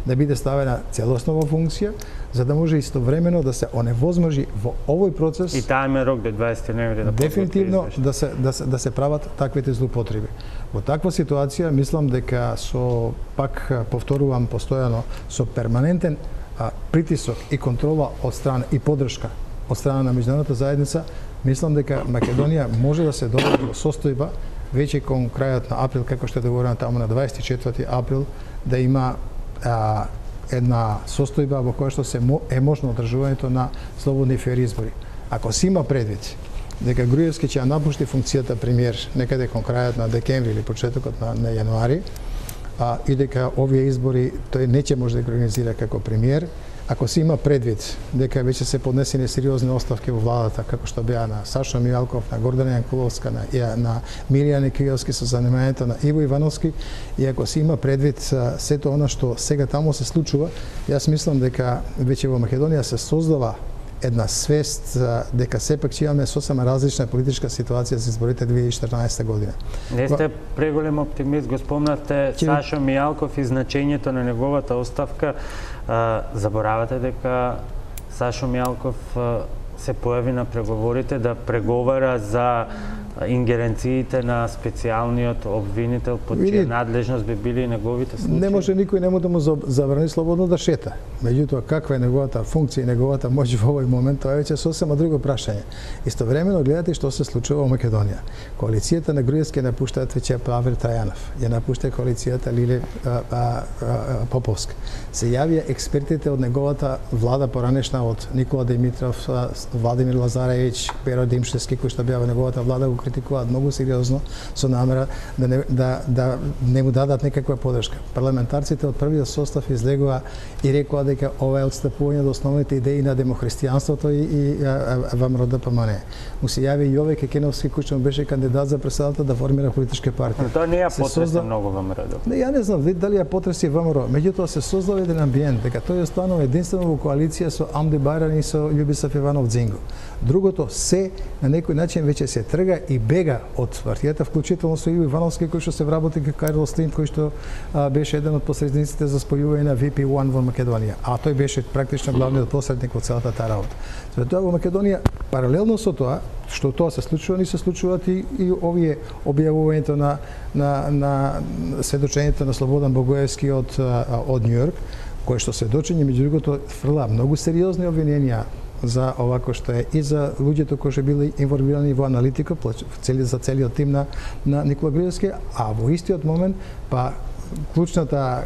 да биде ставена целосно во функција, за да може истовремено да се оневозможи во овој процес и тајме рок до 20 ноември да дефинитивно да се прават таквите злоупотреби. Во таква ситуација мислам дека со пак повторувам постојано со перманентен притисок и контрола од страна и поддршка од страна на меѓународната заедница, мислам дека Македонија може да се доведе во состојба веќе кон крајот на април, како што е договорено таму на 24 април, да има една состојба во која што е можно одржувањето на слободни и фер избори. Ако се има предвид дека Груевски ќе напушти функцијата премиер некаде кон крајот на декември или почетокот на јануари, и дека овие избори тој не ќе може да ги организира како премиер, ако се има предвид дека веќе се поднесени сериозни оставки во владата, како што беа на Сашо Мијалков, на Гордана Јанкуловска, на Милијан Кијовски со занимањето на Иво Ивановски, и ако се има предвид сето она што сега таму се случува, јас мислам дека веќе во Македонија се создава една свест дека сепак ќе имаме сосема различна политичка ситуација за изборите 2014 година. Не сте преголем оптимист, го спомнавте Сашо Мијалков и значењето на неговата оставка. Заборавате дека Сашо Мијалков се појави на преговорите да преговара за ингеренциите на специјалниот обвинител под чија надлежност би били неговите случаи? Не може никој нему да му забрани слободно да шета. Меѓутоа, каква е неговата функција и неговата моќ во овој момент, тоа е веќе сосема друго прашање. Истовремено гледате што се случува во Македонија. Коалицијата на Груевски напуштаат веќе Павел Трајанов, ја напушта коалицијата Лиле Поповска. Се јавија експертите од неговата влада поранешна од Никола Димитров, Владимир Лазареvić, Перо Димшевски, кои што беа во неговата влада, го критикуваат многу сериозно со намера да не му дадат некаква поддршка. Парламентарците од првиот состав излегува и рекоа дека ова е отстапување од основните идеи на демохристијанството и ВМРО ДПМН. Му се јави Јове Кекеновски, кој што беше кандидат за председател да формира политичка партија. Тоа не ја потреса многу ВМРО. Не, ја не знам дали ја потреси ВМРО, меѓутоа се создава еден амбиент дека тој останува единствено во коалиција со Амди Бајрани и со Љубисав Иванов Дзинго. Другото се на некој начин веќе се трга и бега од партијата, вклучително со Иво Ивановски, кој што се вработи како Карлос Слим, кој што беше еден од посредниците за спојување на VP1 во Македонија, а тој беше практично главниот посредник во целата таа работа. За тоа во Македонија, паралелно со тоа, што тоа се случува, ни се случуваат и овие објавувањето на сведочењето на Слободан Богоевски од Њујорк, кој што сведочење меѓу другото фрла многу сериозни обвиненија за овако што е и за луѓето кои што били информирани во аналитика за целиот тим на Никола Груевски, а во истиот момент па клучната,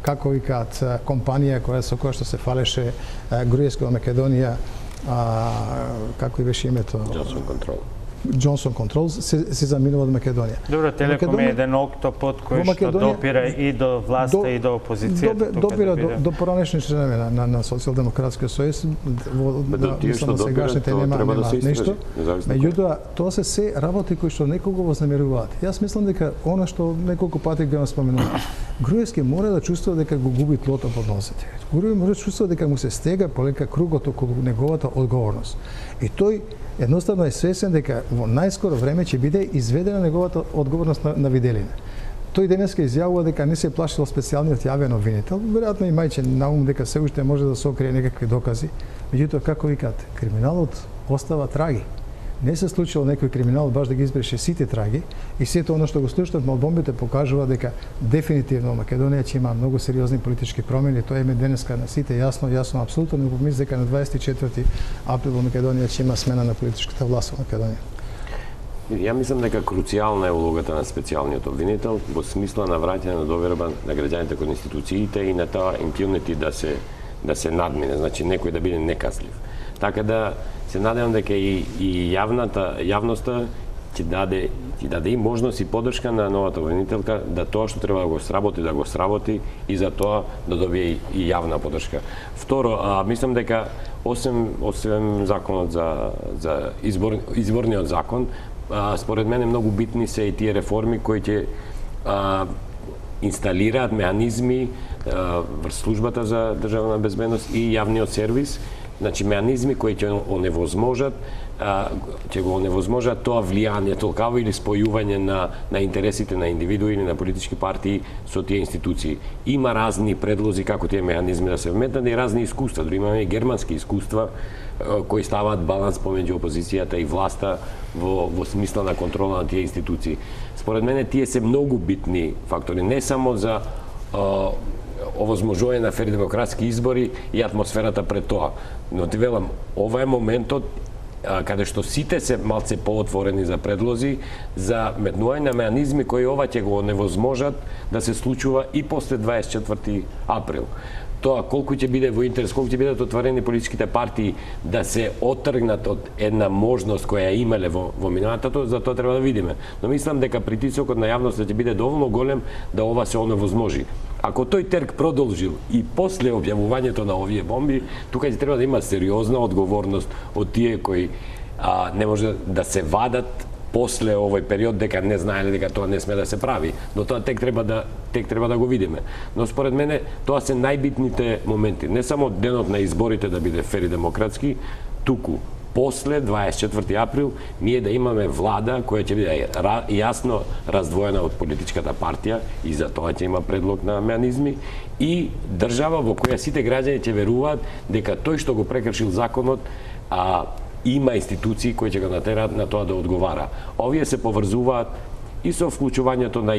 како викаат, компанија со која што се фалеше Груевски во Македонија, како и беше името? Johnson Control. Johnson Controls се заминува од Македонија. Добро, Телеком е еден октопод кој што допира и до власта и до опозицијата. Допира до поранешни членови на Социјалдемократскиот сојуз, мислам сегашните нема нешто. Меѓутоа, тоа се работи кои што некого вознамеруваат. Јас мислам дека она што неколку пати го споменував, Груевски мора да чувствува дека го губи тлото под носите. Груевски мора да чувствува дека му се стега полека кругот околу неговата одговорност. И тој едноставно е свесен дека во најскоро време ќе биде изведена неговата одговорност на виделина. Тој денеска изјавува дека не се плашил специјалниот јавен обвинител, веројатно имајќи на ум дека се уште може да се окрие некакви докази. Меѓутоа, како викате, криминалот остава траги. Не се случило некој криминал баш да ги избреше сите траги и сето оно што го слушнат молбомбите покажува дека дефинитивно Македонија ќе има многу сериозни политички промени. Тоа е денеска на сите јасно, апсолутно не помисли дека на 24 април во Македонија ќе има смена на политичката власт во Македонија. Ја мислам дека круцијална е улогата на специјалниот обвинител во смисла на враќање на доверба на граѓаните кон институциите и на тоа импунити да се надмине, значи некој да биде неказлив. Така да се надевам дека и јавноста ќе даде и можност и поддршка на новата обвинителка да тоа што треба да го сработи и за тоа да добие и јавна поддршка. Второ, мислам дека освен законот за изборниот закон, според мене многу битни се и тие реформи кои ќе инсталираат меанизми врз службата за државна безбедност и јавниот сервис, значи меанизми кои ќе го оневозможат тоа влијание, толкаво или спојување на интересите на индивидуи или на политички партии со тие институции. Има разни предлози како тие меанизми да се вметнат и разни искуства, дури имаме и германски искуства кои ставаат баланс помеѓу опозицијата и власта во смисла на контрола на тие институции. Според мене тие се многу битни фактори, не само за овозможување на фер демократски избори и атмосферата пред тоа. Но ти велам, ова е моментот каде што сите се малце поотворени за предлози, за метнување на меанизми кои ова ќе го невозможат да се случува и после 24 април. Тоа колку ќе биде во интерес, колку ќе бидат отворени политичките партии да се отргнат од една можност која имале во минатото, за тоа треба да видиме. Но мислам дека притисокот на јавноста ќе биде доволно голем да ова се оневозможи. Ако тој терк продолжил и после објавувањето на овие бомби, тука ќе треба да има сериозна одговорност од тие кои не може да се вадат после овој период дека не знаеле дека тоа не сме да се прави, но тоа тек треба да го видиме. Но според мене тоа се најбитните моменти, не само денот на изборите да биде фер и демократски, туку после 24 април ние да имаме влада која ќе биде јасно раздвоена од политичката партија и за тоа ќе има предлог на меанизми и држава во која сите граѓани ќе веруваат дека тој што го прекршил законот има институции кои ќе го натераат на тоа да одговара. Овие се поврзуваат и со вклучувањето на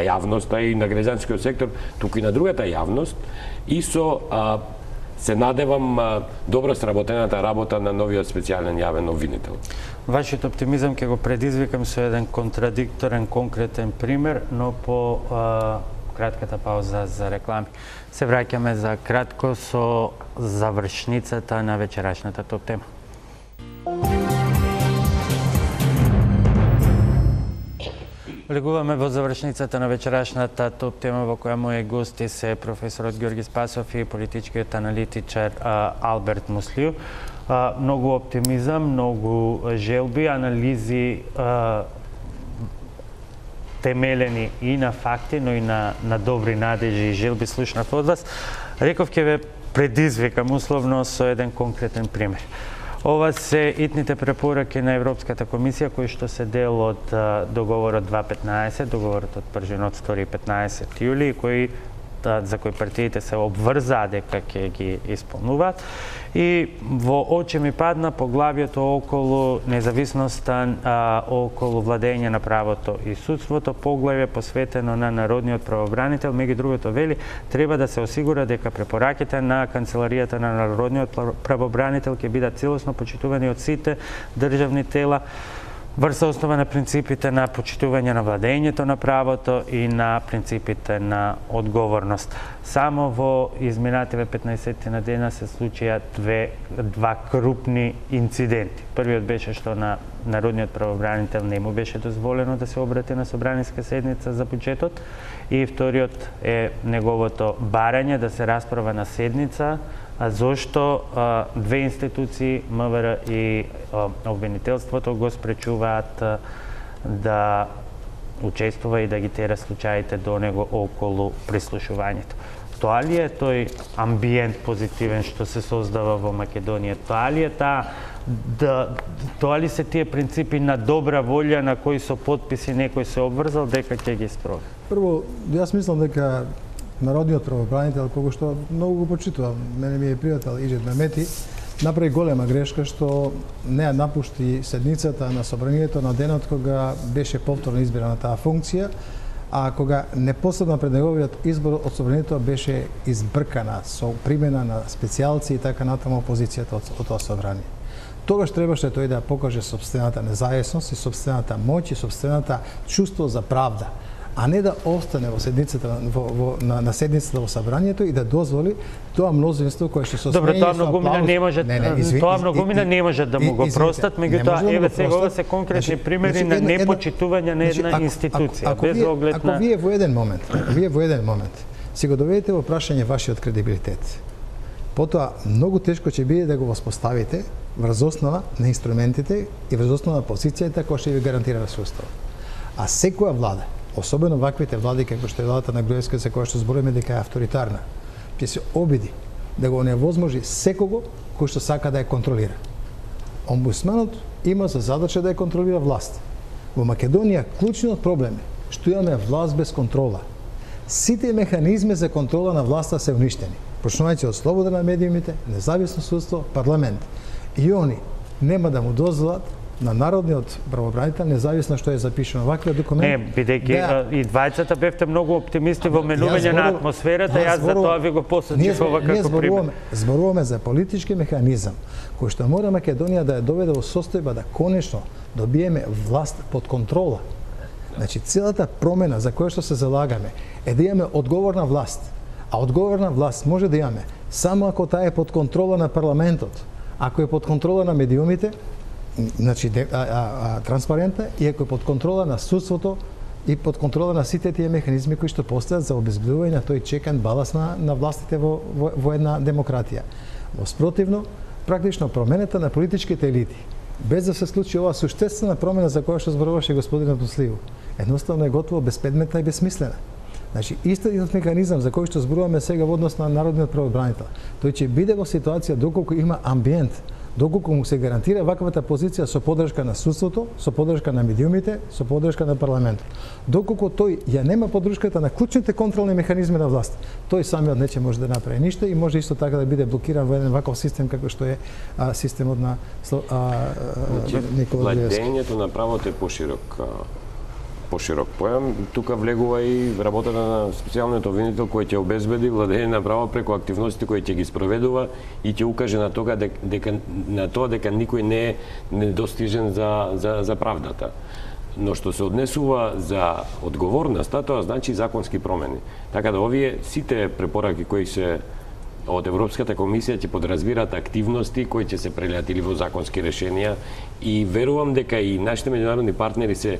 јавноста и на граѓанскиот сектор, туку и на другата јавност, и со се надевам добро сработената работа на новиот специјален јавен обвинител. Вашиот оптимизам ќе го предизвикам со еден контрадикторен конкретен пример, но по кратката пауза за реклами. Се враќаме за кратко со завршницата на вечерашната топ тема. Влегуваме во завршницата на вечерашната топ тема во која мои гости се професорот Ѓорги Спасов и политичкиот аналитичар Алберт Муслију. Многу оптимизам, многу желби, анализи темелени и на факти, но и на добри надежи и желби слушнав од вас. Реков ќе ве предизвикам условно со еден конкретен пример. Ова се итните препораки на Европската комисија кои што се дел од договорот 2.15, договорот од пржинот 2 и 15 јули, за кои партиите се обврзаа дека ќе ги исполнуваат. И во очи ми падна поглавието околу независноста, околу владење на правото и судството, поглавје посветено на народниот правобранител, меѓу другото вели, треба да се осигура дека препораките на Канцеларијата на народниот правобранител ќе бидат целосно почитувани од сите државни тела. врз основа на принципите на почитување на владењето на правото и на принципите на одговорност. Само во изминативе 15 на дена се случија два крупни инциденти. Првиот беше што на народниот правобранител не му беше дозволено да се обрати на собраниска седница за буџетот, и вториот е неговото барање да се расправа на седница, зошто две институции, МВР и обвинителството, го спречуваат да учествува и да ги тера случаите до него околу прислушувањето. Тоа ли е тој амбиент позитивен што се создава во Македонија? Тоа ли се тие принципи на добра волја на кои со потписи некој се обврзал дека ќе ги спроведе? Прво, јас мислам дека народниот правобранител, кога што многу го почитувам, мене ми е пријател Иџет Мемети, направи голема грешка што не ја напушти седницата на собранието на денот кога беше повторно избрана таа функција, а кога непосредно пред неговиот избор од собранието беше избркана со примена на специјалци и така натаму опозицијата од тоа собрание. Тогаш требаше тој да покаже собствената независност и собствената моќ и собствената чувство за правда, а не да остане во седницата на седницата во собранието и да дозволи тоа мнозинство кое што со Добро, тоа многумина не може не може да му го простат, меѓутоа еве сега ова се конкретни примери на непочитување на една институција без оглед на. Ако вие во еден момент си го доведете во прашање вашиот кредибилитет, потоа многу тешко ќе биде да го воспоставите врз основа на инструментите и врз основа на позицијата која што ви гарантира суставот. А секоја влада, особено ваквите влади како што е владата на Груевски, за која што зборуваме дека е авторитарна, ќе се обиди да го оневозможи секого кој што сака да ја контролира. Омбудсманот има за задача да ја контролира власт. Во Македонија клучниот проблем е што имаме власт без контрола. Сите механизми за контрола на власта се уништени, почнувајќи од слобода на медиумите, независно судство, парламент. И они нема да му дозволат на народниот правобранител, независно што е запишано ваквиот документ. Не, бидејќи и двајцата бевте многу оптимисти во менување на атмосферата, јас за тоа ви го посочив ова како пример. Зборуваме за политички механизам кој што мора Македонија да ја доведе во состојба да конечно добиеме власт под контрола. Значи целата промена за која што се залагаме е да имаме одговорна власт, а одговорна власт може да имаме само ако таа е под контрола на парламентот, ако е под контрола на медиумите, значи транспарентна, и ако е под контрола на судството и под контрола на сите тие механизми кои што постојат за обезбедување на тој чекан баланс на властите во една демократија. Во спротивно, практично промената на политичките елити, без да се случи оваа суштествена промена за која што зборуваше господинот Муслиу, едноставно е готово безпредметна и безсмислена. Значи, истиот механизам за кој што зборуваме сега во однос на народниот правобранител, тој ќе биде во ситуација доколку има амбиент, доколку му се гарантира ваквата позиција со поддршка на судството, со поддршка на медиумите, со поддршка на парламентот. Доколку тој ја нема поддршката на клучните контролни механизми на власт, тој самиот не ќе може да направи ништо и може исто така да биде блокиран во еден ваков систем како што е системот на Никола Груевски. Владењето на правото е поширок појам. Тука влегува и работата на специјалниот обвинител кој ќе обезбеди владење на право преку активностите кои ќе ги спроведува и ќе укаже на тоа дека никој не е недостижен за правдата. Но што се однесува за одговорноста, тоа значи законски промени. Така да овие сите препораки кои се од Европската комисија ќе подразбираат активности кои ќе се прелеат или во законски решенија и верувам дека и нашите меѓународни партнери се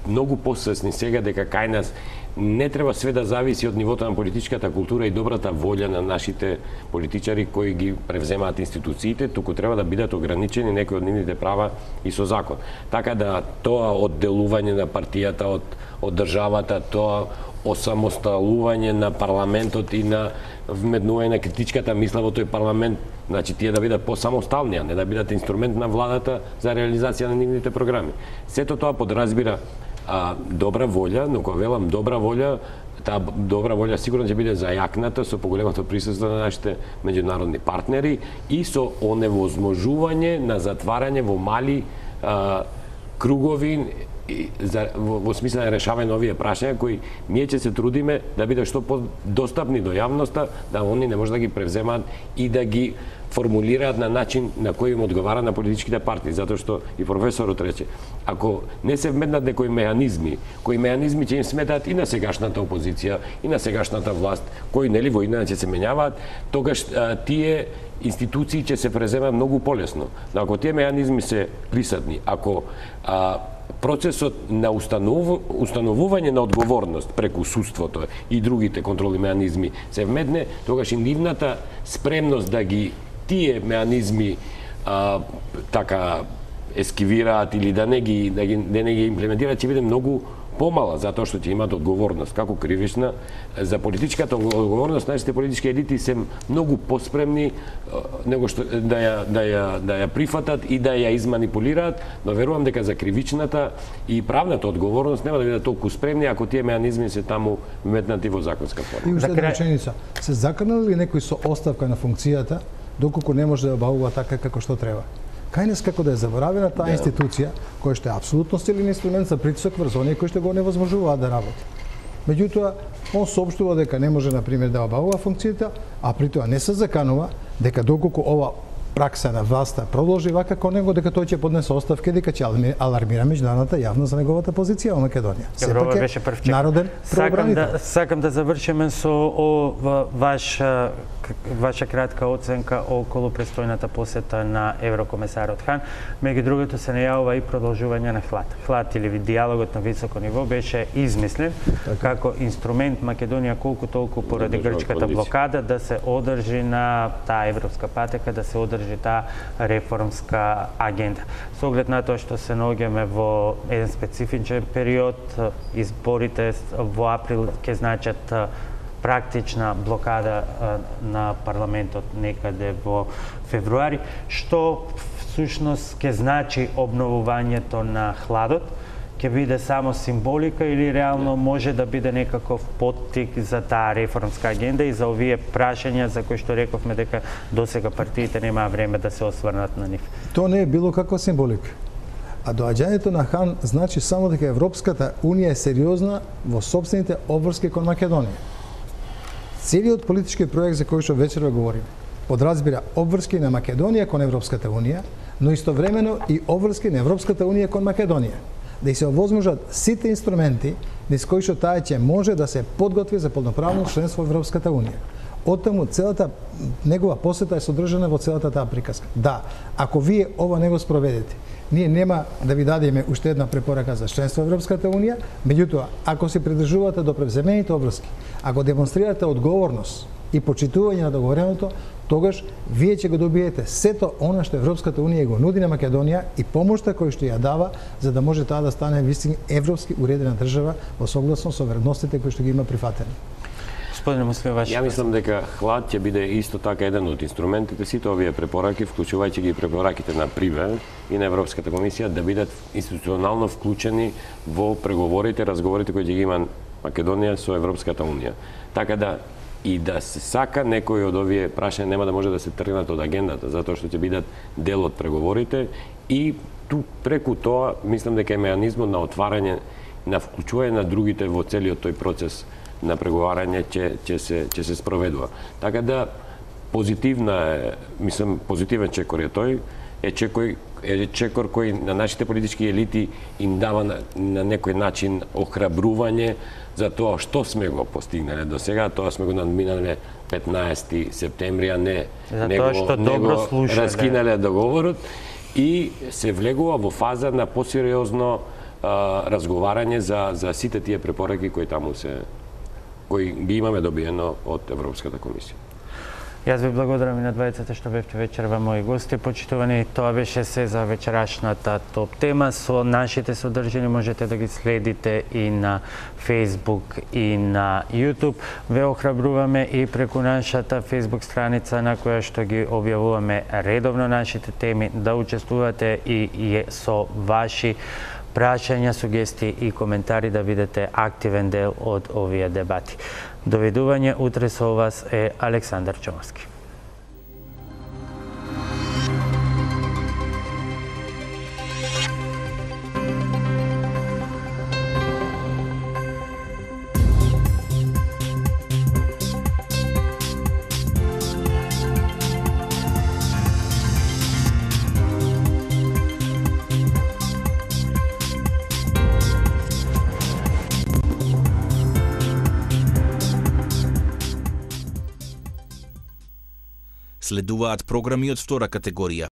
многу посвесни сега дека кај нас не треба све да зависи од нивото на политичката култура и добрата волја на нашите политичари кои ги превземаат институциите, туку треба да бидат ограничени некои од нивните права и со закон. Така да тоа одделување на партијата од државата, тоа осамосталување на парламентот и на вмеднување на критичката мисла во тој парламент, значи тие да бидат посамостални, а не да бидат инструмент на владата за реализација на нивните програми. Сето тоа подразбира добра волја, но кога велам добра волја, таа добра волја сигурно ќе биде зајакната со поголемото присуство на нашите меѓународни партнери и со оневозможување на затварање во мали кругови во смисла на решавање на овие прашања кои ние ќе се трудиме да биде што подостапни до јавноста, да они не може да ги превземаат и да ги формулираат на начин на кој им одговара на политичките партии, затоа што и професорот рече, ако не се вметнат некои меhanizmi ќе им сметаат и на сегашната опозиција, и на сегашната власт, кои нели во иднина ќе се менјаваат, тогаш тие институции ќе се преземаат многу полесно. Но ако тие меhanizmi се присутни, ако процесот на установување на одговорност преку судството и другите контролни меhanizmi се вметне, тогаш и нивната спремност да ги тие меhanizmi така ескивираат или да не ги имплементираат ќе биде многу помала, затоа што ќе имаат одговорност како кривична. За политичката одговорност нашите политички елити се многу поспремни него што да ја прифатат и да ја изманипулираат, но верувам дека за кривичната и правната одговорност нема да бидат толку спремни ако тие меhanizmi се таму вметнати во законска форма. И уште една реченица. Се заканал ли некој со оставка на функцијата доколку не може да обавува така како што треба? Кајнес како да е заборавена таа институција, која што е апсолутно силен инструмент за притисок врз оние кои што го невозможуваат да работи. Меѓутоа, он соопштува дека не може, например, да обавува функцијата, а при тоа не се заканува дека доколку ова пракса на власта продолжи вака кон него, дека тој ќе поднесе оставка, дека ќе алармира меѓународната јавност за неговата позиција во Македонија. Сепак е народен правобранител. Сакам да завршиме со ваша кратка оценка околу престојната посета на еврокомесарот Хан. Меѓу другото се најавува и продолжување на ХЛАД. ХЛАД или диалогот на високо ниво беше измислен како инструмент Македонија колку толку поради грчката блокада да се одржи на таа европска патека, да се одржи таа реформска агенда. Со оглед на тоа што се наоѓаме во еден специфичен период, изборите во април ќе значат практична блокада на парламентот некаде во февруари, што всушност ќе значи обновувањето на ХЛАДот, ќе биде само символика или реално може да биде некаков поттик за таа реформска агенда и за овие прашања за кои што рековме дека досега партиите немаа време да се осврнат на нив. Тоа не е било каква символика. А доаѓањето на Хан значи само дека Европската Унија е сериозна во сопствените обврски кон Македонија. Целиот политички проект за кој што вечерва говориме подразбира обврски на Македонија кон Европската Унија, но истовремено и обврски на Европската Унија кон Македонија. Да се овозможат сите инструменти низ кои што таа ќе може да се подготви за полноправно членство во Европската Унија. Оттаму целата негова посета е содржана во целата таа приказка. Да, ако вие ова не го спроведете, ние нема да ви дадеме уште една препорака за членство во Европската Унија, меѓутоа, ако се придржувате до превземените обврски, ако демонстрирате одговорност и почитување на договореното, тогаш вие ќе го добиете сето она што Европската Унија го нуди на Македонија и помошта која што ја дава за да може таа да стане вистина европски уредена држава во согласно со вредностите кои што ги има прифатени. Господине Муслим, Ја мислам дека ХЛАД ќе биде исто така еден од инструментите, сите овие препораки, вклучувајќи ги препораките на ПРИВЕ и на Европската комисија, да бидат институционално вклучени во преговорите, разговорите кои ќе ги има Македонија со Европската Унија. Така да и да се сака некои од овие прашања нема да може да се тргнат од агендата, затоа што ќе бидат дел од преговорите и ту преку тоа мислам дека е меhanizmот на отварање, на вклучување на другите во целиот тој процес на преговарање ќе се спроведува. Така да позитивна е, мислам позитивен чекор е тој, е чекор кој на нашите политички елити им дава на некој начин охрабрување за тоа што сме го постигнале до сега, тоа сме го надминале 15 септември, а не него раскинале договорот и се влегува во фаза на посериозно разговарање за сите тие препораки кои таму кои ги имаме добиено од Европската комисија. Јас ви благодарам и на двајцата што бевте вечерва мои гости. Почитувани, тоа беше се за вечерашната топ тема. Со нашите содржини можете да ги следите и на Facebook и на YouTube. Ве охрабруваме и преку нашата Facebook страница на која што ги објавуваме редовно нашите теми да учествувате и со ваши прашања, сугестии и коментари да бидете активен дел од овие дебати. Довидување, утре со вас е Александар Чомовски. Следуваат програми од втора категорија.